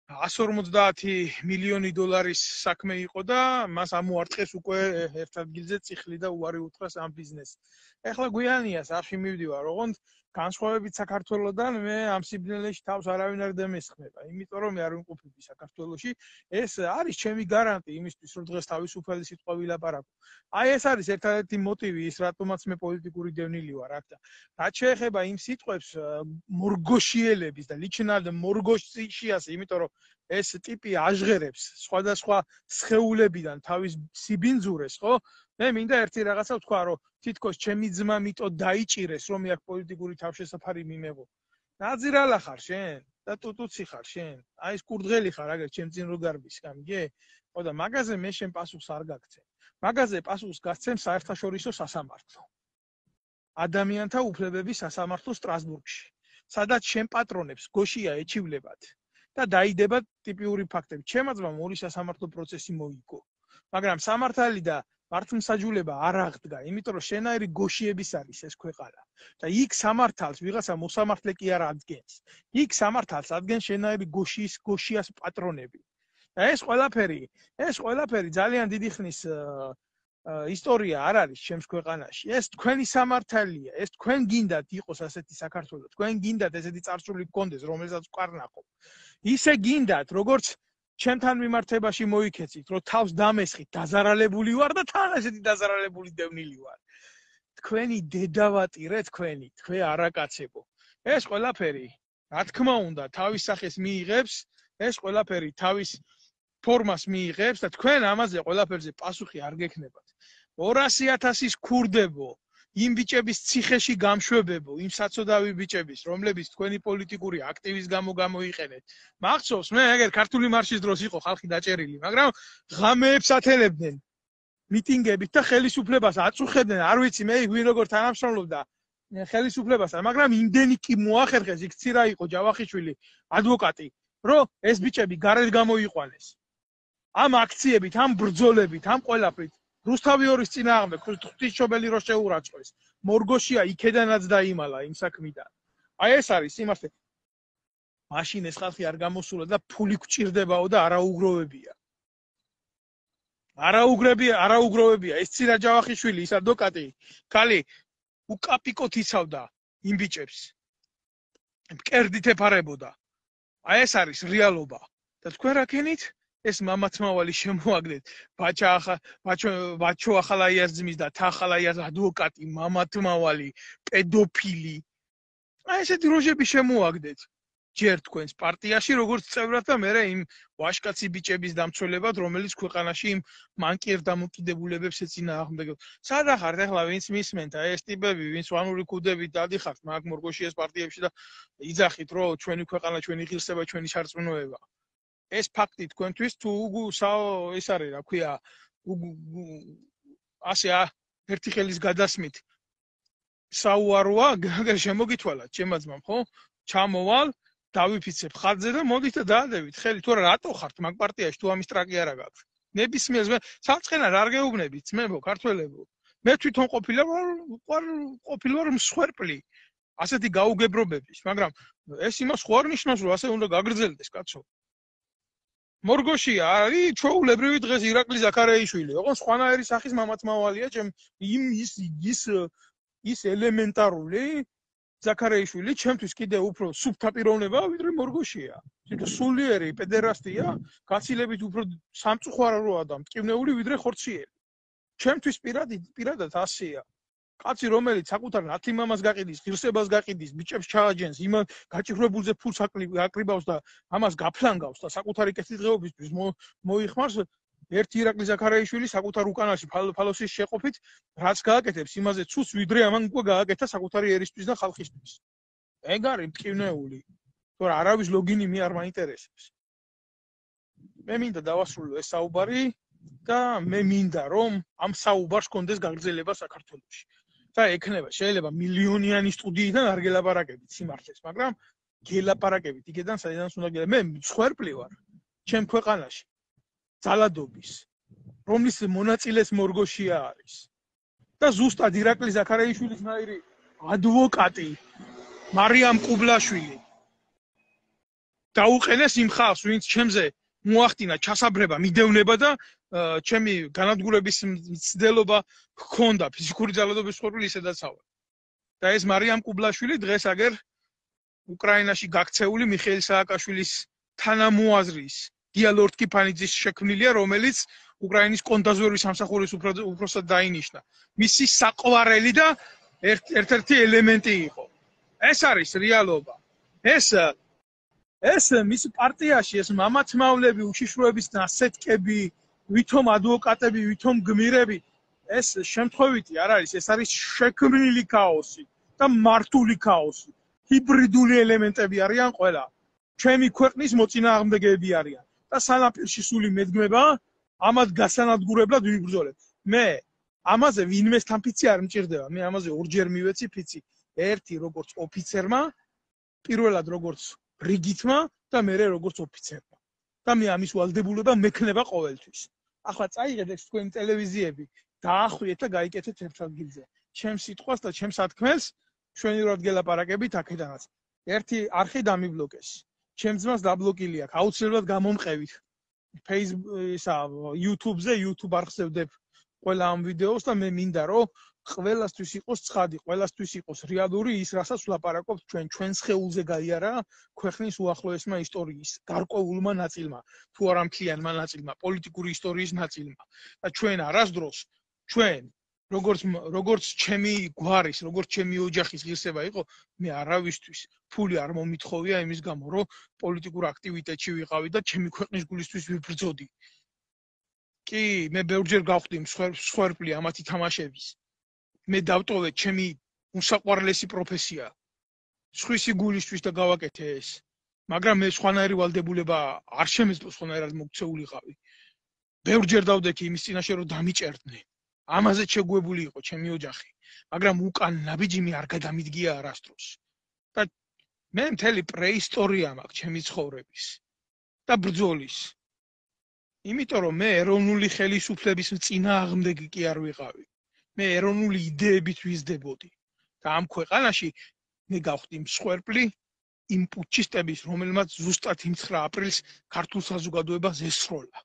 150 მილიონი დოლარის საქმე იყო და მას ამოარტყეს უკვე ერთ ადგილზე წიხლი და უარი უთხრას ამ ბიზნესს. ეხლა გვიანია სახში მივდივარ, ოღონდ განსხვავებით საქართველოსთან მე ამ სიბნელეში თავს არავინ არ დამესხმება, იმიტომ რომ მე არ ვიმყოფები საქართველოში. ეს არის ჩემი გარანტი იმისთვის, რომ დღეს თავისუფალი სიტყვა ვილაპარაკო. აი ეს არის ერთადერთი მოტივი ის, რატომაც მე პოლიტიკური დევნილი ვარ აქ და რაც შეეხება იმ სიტყვებს მორგოშიელების და ličinal morgoshiyas, იმიტომ რომ ეს ტიპი აჟღერებს სხვადასხვა სხეულებიდან თავის სიბინძურეს, ხო? მე მინდა ერთი რაღაცა ვთქვა, რომ თითქოს ჩემი ძმა მიტო დაიჭირეს, რომ მე აქ პოლიტიკური თავშესაფარი მიმეღო. ნაძირალა ხარ შენ და ტუტუცი ხარ შენ. აი ეს კურდღელი ხარ, აგერ ჩემ წინ რო გარბის, გამიგე? ხო და მაგაზე მე შენ პასუხს არ გაგცემ. მაგაზე პასუხს გასცემ საერთაშორისო სასამართლო. ადამიანთა უფლებების სასამართლო სტრასბურგში, სადაც შენ პატრონებს გოშია ეჩივლებათ და დაიდება ტიპიური ფაქტები. ჩემმა ძმამ ორი სასამართლო პროცესი მოიგო, მაგრამ სამართალი და მართლმსაჯულება არ აღდგა, იმიტომ რომ შენაირი გოშიების არის ეს ქვეყანა და იქ სამართალს ვიღაცა მოსამართლე კი არ ადგენს. იქ სამართალს ადგენს შენაირი გოშიას პატრონები. და ეს ყველაფერი ძალიან დიდი ხნის ისტორია არ არის ჩემს ქვეყანაში. ეს თქვენი სამართალია, ეს თქვენ გინდათ იყოს ასეთი საქართველო, თქვენ გინდათ ესეთი წარსული გქონდეს, რომელსაც ვკარნახობ. ისე გინდათ, როგორც ჩემთან მიმართებაში მოიქეცით, რომ თავს დამესხით, დაზარალებული ვარ და თან ესეთი დაზარალებული დევნილი ვარ. თქვენი დედავატირე თქვენი, თქვენ არაკაცებო. ეს ყველაფერი, რა თქმა უნდა, თავის სახეს მიიღებს, ეს ყველაფერი თავის ფორმას მიიღებს და თქვენ ამაზე ყველაფერზე პასუხი არ გექნებათ. 200,000-ის ქურდებო, იმ ბიჭების ციხეში გამშვებებო, იმ საწოდავი ბიჭების, რომლებიც თქვენი პოლიტიკური აქტივის გამო გამოიყენეთ. მახსოვს, მე ეგერ ქართული მარშის დროს იყო ხალხი დაჭერილი, მაგრამ ღამეებს ათელებდნენ მიტინგებით და ხელისუფლებას აწუხებდნენ, არ ვიცი მე ვინ როგორ თანამშრომლობდა ხელისუფლებასთან, მაგრამ იმდენი კი მოახერხეს, იქ ცირა იყო ჯავახიშვილი, ადვოკატი, რომ ეს ბიჭები გარეთ გამოიყვანეს. ამ აქციებით, ამ ბრძოლებით, ამ ყველაფრით რუსთავი ორის წინააღმდეგ ღვთისმშობელი რო შეურაცხყვეს. მორგოშია იქედანაც დაიმალა იმ საქმიდან. აი ეს არის იმასე. მაშინ ეს ხალხი არ გამოსულა და ფული გვჭირდებაო და არაუგროვებია. არაუგროვებია. ეს ცირა ჯავახიშვილი, ის ადვოკატი, ქალი უკაპიკოთ იცავდა იმ ბიჭებს. მკერდით ეფარებოდა. აი ეს არის რეალობა. და თქვენ რა ქენით? ეს მამათმავალი შემოაგდეთ, ბაჩო ახალაიაზმის და თახალაიაზ ადვოკატი, მამათმავალი, პედოფილი. აი ესეთი როჟები შემოაგდეთ. ჯერ თქვენს პარტიაში, როგორც წევრად და მე იმ ვაშკაცი ბიჭების დამცველებად, რომელიც ქვეყანაში იმ მანკიერ დამოკიდებულებებს ეწინააღმდეგებდა. სადა ხართ ახლა ვინც მისმენთ, აი ეს ტიპები, ვინც ვანური ქუდებით დადიხართ მაგ მორგოშიას პარტიებში და იძახით, რომ ჩვენი ქვეყანა, ჩვენი ღირსება, ჩვენი სარწმუნოება. ეს ფაქტი თქვენთვის თუ ეს არის, რა ქვია, ასე ერთი ხელის გადასმით საუაროა, გაგერ შემოგითვალათ, ჩემმა ძმამ, ხო? ჩამოვალ, დავიფიცებ ხარჯზე და მოდით და დაადევით ხელი, თუ რატო ხართ მაგ პარტიაში, თუ ამის ტრაკი არა გაქვთ. ნებისმიერს მე საწყენად არ გეუბნებით, ძმებო, ქართველებო. მე თვითონ ყოფილვარ მსხვერპლი ასეთი გაუგებრობების, მაგრამ ეს იმას ხო არ ნიშნავს, რომ ასე უნდა გაგრძელდეს, კაცო. მორგოშია არის ჩვეულებრივი დღეს ირაკლი ზაქარეიშვილი, ოღონდ სხვანაირი სახის მამათმავალია, ის ელემენტარული ზაქარეიშვილი ჩემთვის კიდე უფრო სუფთა პიროვნებაა, ვიდრე მორგოშია. თვითონ სულიერი პედერასტია, გაცილებით უფრო სამწუხაროა და მტკივნეული ვიდრე ხორციელი. ჩემთვის პირადად ასეა. კაცი, რომელიც საკუთარ ნათლიმამას გაყიდის, ღირსებას გაყიდის, ბიჭებს ჩააჯენს, იმ გაჭირვებულზე ფულს აკრიბავს და ამას გაფლანგავს და საკუთარი კეთილდღეობისთვის მოიხმარს, ერთი ირაკლი ზაქარაიშვილი საკუთარ უკანაში ფალოსის შეყოფით რაც გააკეთებს, იმაზე ცუს ვიდრე ამან უკვე გააკეთა საკუთარი ერისთვის და ხალხისთვის. ეგ არის მტკივნეული. თორე არავის ლოგინი მე არ მაინტერესებს. მე მინდა დავასრულო ეს საუბარი და მე მინდა რომ ამ საუბარს კონდეს გაგრძელება საქართველოში. და ექნება შეიძლება მილიონიანი სტუდიიდან არ გელაპარაკებით სიმართლეს, მაგრამ გელაპარაკებით იქიდან საიდანაც უნდა გელაპარაკებით. მე მსხვერპლი ვარ ჩემ ქვეყანაში. ძალადობის, რომლის მონაწილეს მორგოშია არის. და ზუსტად ირაკლი ზაქარაიშვილის ნაირი ადვოკატი მარიამ ყუბლაშვილი დაუყენეს იმ ხალხს, ვინც ჩემზე მოახდინა ჩასაბრება, მიდევნება და ჩემი განადგურების მცდელობა ჰქონდა ფიზიკური ძალადობის მსხვერპლი ისედაც ავარ. და ეს მარიამ ყუბლაშვილი დღეს აგერ უკრაინაში გაქცეული მიხეილ სააკაშვილის თანამოაზრის დიალორდ კიფანიძის შექმნილია, რომელიც უკრაინის კონდაზვერვის სამსახურის უფროსად დაინიშნა. მისი საყვარელი და ერთ-ერთი ელემენტი იყო. ეს არის რეალობა. ეს მის პარტიაში ეს მამათმავლები, უშიშროების ნასეტკები, ვითომ ადვოკატები, ვითომ გმირები, ეს შემთხვევითი არ არის, ეს არის შექმნილი ქაოსი და მართული ქაოსი. ჰიბრიდული ელემენტები არიან ყველა. ჩემი ქვეყნის მოწინააღმდეგეები არიან. და სანაპირში სული მედგმება, ამათ გასანადგურებლად ვიბრძოლებ. მე ამაზე ვინმეს თამფიცი არ მჭირდება. მე ამაზე ორჯერ მივეცი ფიცი. ერთი როგორც ოფიცერმა, პირველად როგორც რიგითმა და მერე როგორც ოფიცერმა. და მე ამის ვალდებულება მექნება ყოველთვის. ახლა წაიღეთ ეს თქვენი ტელევიზიები, დაახვიეთ და გაიკეთეთ ერთ ადგილზე. ჩემს სიტყვას და ჩემს ათქმელს ჩვენივრად გელაპარაკებით აქედანაც. ერთი არხი დამიბლოკეს. ჩემს ძმას დაბლოკილი აქვს. აუცილებლად გამომყევით. YouTube-ზე, YouTube არხზე ვდებ ყველა ამ ვიდეოს და მე მინდა რომ ყველასთვის იყოს ცხადი, ყველასთვის იყოს რეალური ის, რასაც ვლაპარაკობთ ჩვენს ხეულზე გაიარა ქვეყნის უახლოესმა ისტორიის გარკვეულმა ნაწილმა, თუ არა მთლიანმა ნაწილმა, პოლიტიკური ისტორიის ნაწილმა. და ჩვენ არასდროს ჩვენ როგორც ჩემი გვარის, როგორც ჩემი ოჯახის ღირსება იყო, მე არავისთვის ფული არ მომითხოვია იმის გამო, რომ პოლიტიკურ აქტივიტეტში ვიყავი და ჩემი ქვეყნის გულისთვის ვიბრძოდი. კი, მე ბევრჯერ გავხდი მსხვერპლი ამათი თამაშების. მე დავტოვე ჩემი უსაყვარლესი პროფესია. სხვისი გულისთვის და გავაკეთე ეს. მაგრამ მე სხვანაირი ვალდებულება არ შემეძლო სხვანაირად მოქცეულიყავი. ბევრჯერ დავდექი იმის წინაშე რომ დამიჭერდნენ. ამაზე შეგუებული იყო ჩემი ოჯახი, მაგრამ უკან ნაბიჯიმი არ გადამიდგია არასდროს. და მე მთელი პრეისტორია მაქვს ჩემი ცხოვრების და ბრძოლის. იმიტომ რომ მე ეროვნული ხელისუფლების წინააღმდეგი კი არ ვიყავი. მე ეროვნული იდეებით ვიზრდებოდი. და ამ ქვეყანაში მე გავხდი მსხვერპლი იმ პუტჩისტების, რომელმაც ზუსტად იმ 9 აპრილს ქართულ საზოგადოებას ესროლა.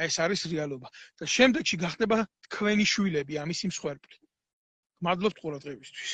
ეს არის რეალობა. და შემდეგში გახდება თქვენი შვილები ამის მსხვერპლი. მადლობთ ყურადღებისთვის.